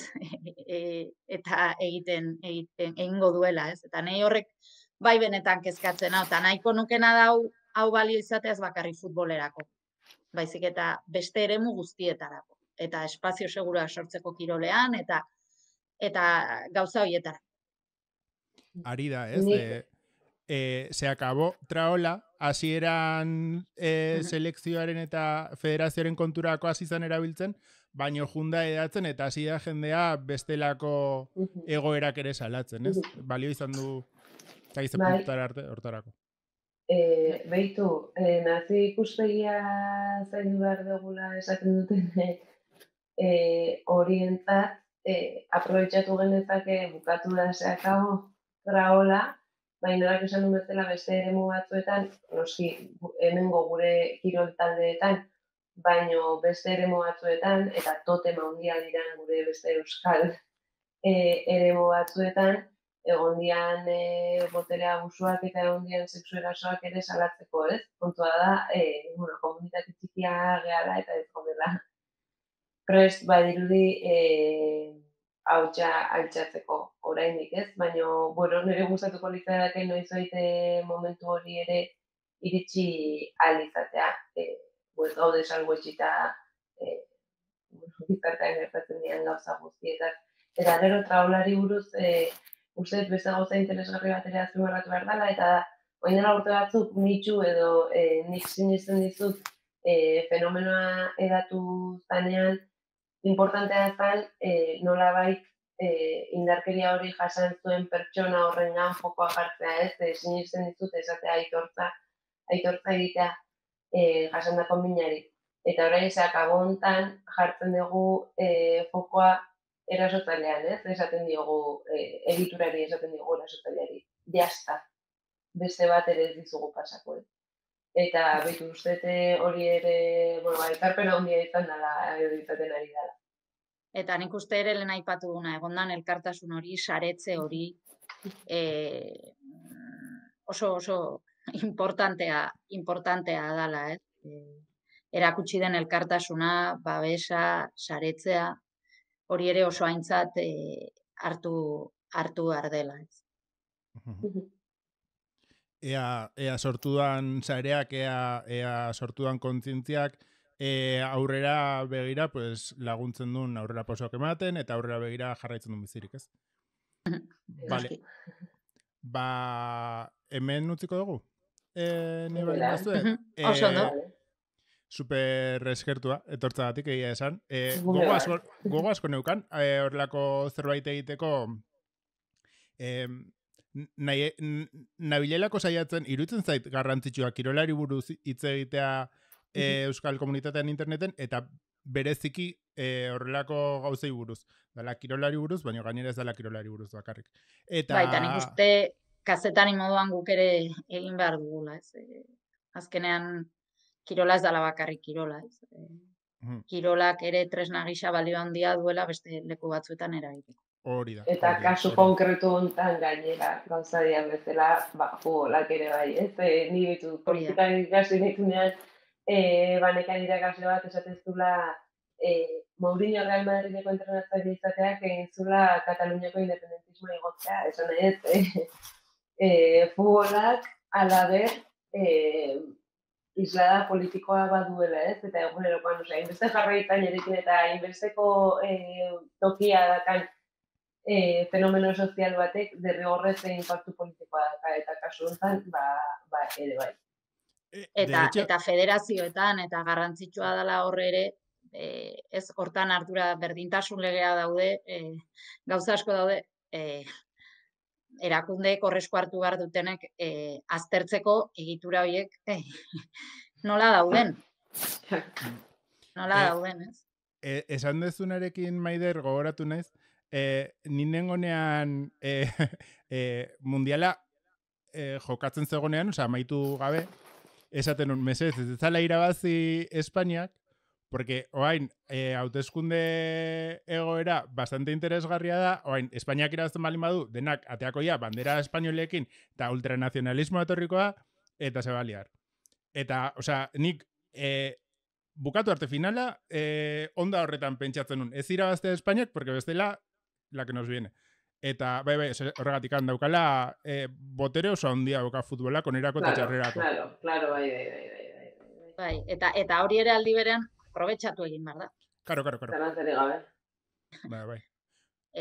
e, eta egiten egiten egingo duela, ez? Eta nei horrek bai benetan kezkatzen hau, eta nahiko nukena dau hau balio izateaz bakarri futbolerako. Baizik eta beste eremu guztietarako eta espazio segura sortzeko kirolean eta eta gauza hoietara. Ari da, ez? Eh, eh, se acabó traola, hasieran eh, selekzioaren eta federazioaren konturako hasi izan erabiltzen, baino junda edatzen eta hasi da jendea bestelako egoerak ere salatzen, ez? Balio izan du zaize Bai. puntara arte hortarako. E, Beitu, e, nazi ikuspegia zaindu behar dugula esaten duten e, horientzat e, aprobetxatu genezake bukatu da zeakago traola, baina norak esan duen bezala beste eremu batzuetan, noski hemengo gure kirol taldeetan, baino beste eremu batzuetan, eta totema handia dira gure beste euskal e, eremu batzuetan, egon dian e, botere abusuak eta egon dian sexu erasoak ere salatzeko, ez? Kontua da, e, bueno, komunitate txikia gehala eta ez gondela prest badirudi e, hautsa altxatzeko oraindik, ez? Baina, bueno, nire gustatuko litzateke noizoit momentu hori ere iritsi ahal izatea. E, pues, gaude salbuetsita e, gizartean gertatzen dian gauza guztietaz. Eta gero traolari buruz, e, uste beste gauza interesgarri bat ere azpimarratu behar dela, eta orain dela urte batzuk nitxu edo e, nik sinisten dizut e, fenomenoa edatu zanean, importantea zen e, nolabait e, indarkeria hori jasan zuen pertsona horrengan fokoa jartzea, ez? E, sinisten dizut esatea aitortza, aitortza egitea e, jasandako minari. Eta orain zeakabo hontan jartzen dugu e, fokoa erasotzailean, ez? Esaten diogu, e, egiturari esaten diogu erasotzaileari. Jasta, beste bat ere ez dizugu pasako, ez? Eta bitu ustete hori ere, bueno, aitarpena handia izan dela, edo izaten ari dela. Eta nik uste ere lehen aipatu duna, egondan elkartasun hori, saretze hori, e, oso oso importantea, importantea dala, ez? E, erakutsi den elkartasuna, babesa, saretzea, hori ere oso aintzat e, hartu, hartu ardela, ez? Ea, ea sortudan sareak, ea, ea sortudan kontzientziak, e, aurrera begira pues, laguntzen duen aurrera posoak ematen, eta aurrera begira jarraitzen duen bizirik, ez? Vale. Ba, hemen utziko dugu? E, ne bali mazue? E, oso ondo. Super eskertua, etortzagatik egia esan. E, gogo, asko, gogo asko neukan, e, horrelako zerbait egiteko, e, nahi, nabilelako saiatzen, iruditzen zait garrantzitsua kirolari buruz hitz egitea e, euskal komunitatean interneten, eta bereziki e, horrelako gauzei buruz. Dala kirolari buruz, baina gainera ez dala kirolari buruz bakarrik. Eta... Baita, nik uste kazetari moduan guk ere egin behar dugula, ez? E, azkenean, kirola ez dala bakarrik kirola, ez? E, kirolak ere tresna gisa balio handia duela beste leku batzuetan eragiteko. Hori da. Eta hori, kasu hori. konkretu hontan gainera, gauza dian bezala, ba, futbolak ere bai, ez? E, ni bitu, politikan ikasi nitunean, e, banekan irakasle bat esatezula, e, Mourinho Real Madrideko entrenatzaile izateak egin zula Kataluniako independentismoa igotzea, esan ez, e, e, futbolak alaber, e, islada politikoa baduela, ez? Eta egunerokoan, osea, inbeste jarraitzailerekin eta inbesteko e, tokia dakan e, fenomeno sozial batek derrigorrez inpaktu politikoa daka, eta kasu honetan, ba, ba, ere bai. Eta, hecho... eta federazioetan, eta garrantzitsua dela horre ere, e, ez hortan hartura berdintasun legea daude, e, gauza asko daude, e, erakundeek horrezko hartu behar dutenek e, aztertzeko egitura horiek e, nola dauden. Nola e, dauden, ez? E, esan dezunarekin, Maider, gogoratu naiz, e, ninen gonean e, e, mundiala e, jokatzen zegonean, oza, amaitu gabe, esaten un, mesez, ez zala irabazi Espainiak, porque oain, e, hauteskunde egoera bastante interesgarria da, oain, Espainiak irabazten balin badu, denak ateakoia bandera espainolekin eta ultranazionalismoa etorrikoa, eta se baliar. Eta, osea, nik e, bukatu arte finala, e, onda horretan pentsatzen nun. Ez irabaztea Espainiak, porque bestela, la que nos viene. Eta, bai, bai, horregatik handaukala, e, botere oso handia dauka futbolak, onerako eta txarrerako. Claro, claro, bai, bai, bai, bai. Bai, eta, eta hori ere aldi berean, aprobetxatu egin behar da. Karo, karo, karo. Zarantzari gabe. Bai, bai.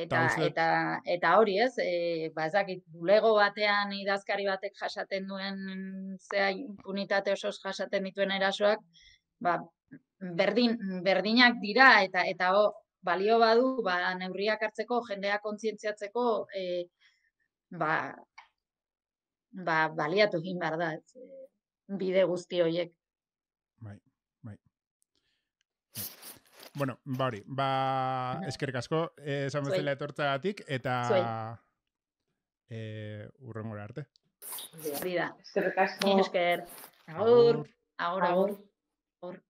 Eta, eta, eta hori ez, e, ba ezakit, bulego batean idazkari batek jasaten duen zea impunitate osoz jasaten dituen erasoak, ba, berdin, berdinak dira eta eta o, balio badu, ba, neurriak hartzeko, jendea kontzientziatzeko, e, ba, ba, baliatu egin behar da, ez, bide guzti horiek. Bai, bai. bueno, ba hori, ba, eskerrik asko, eh, esan Zuei. bezala etortzagatik, eta Zuei. eh, urrengora arte. Hori da. Eskerrik asko. Esker. Agur. Agur. Agur, agur. Agur.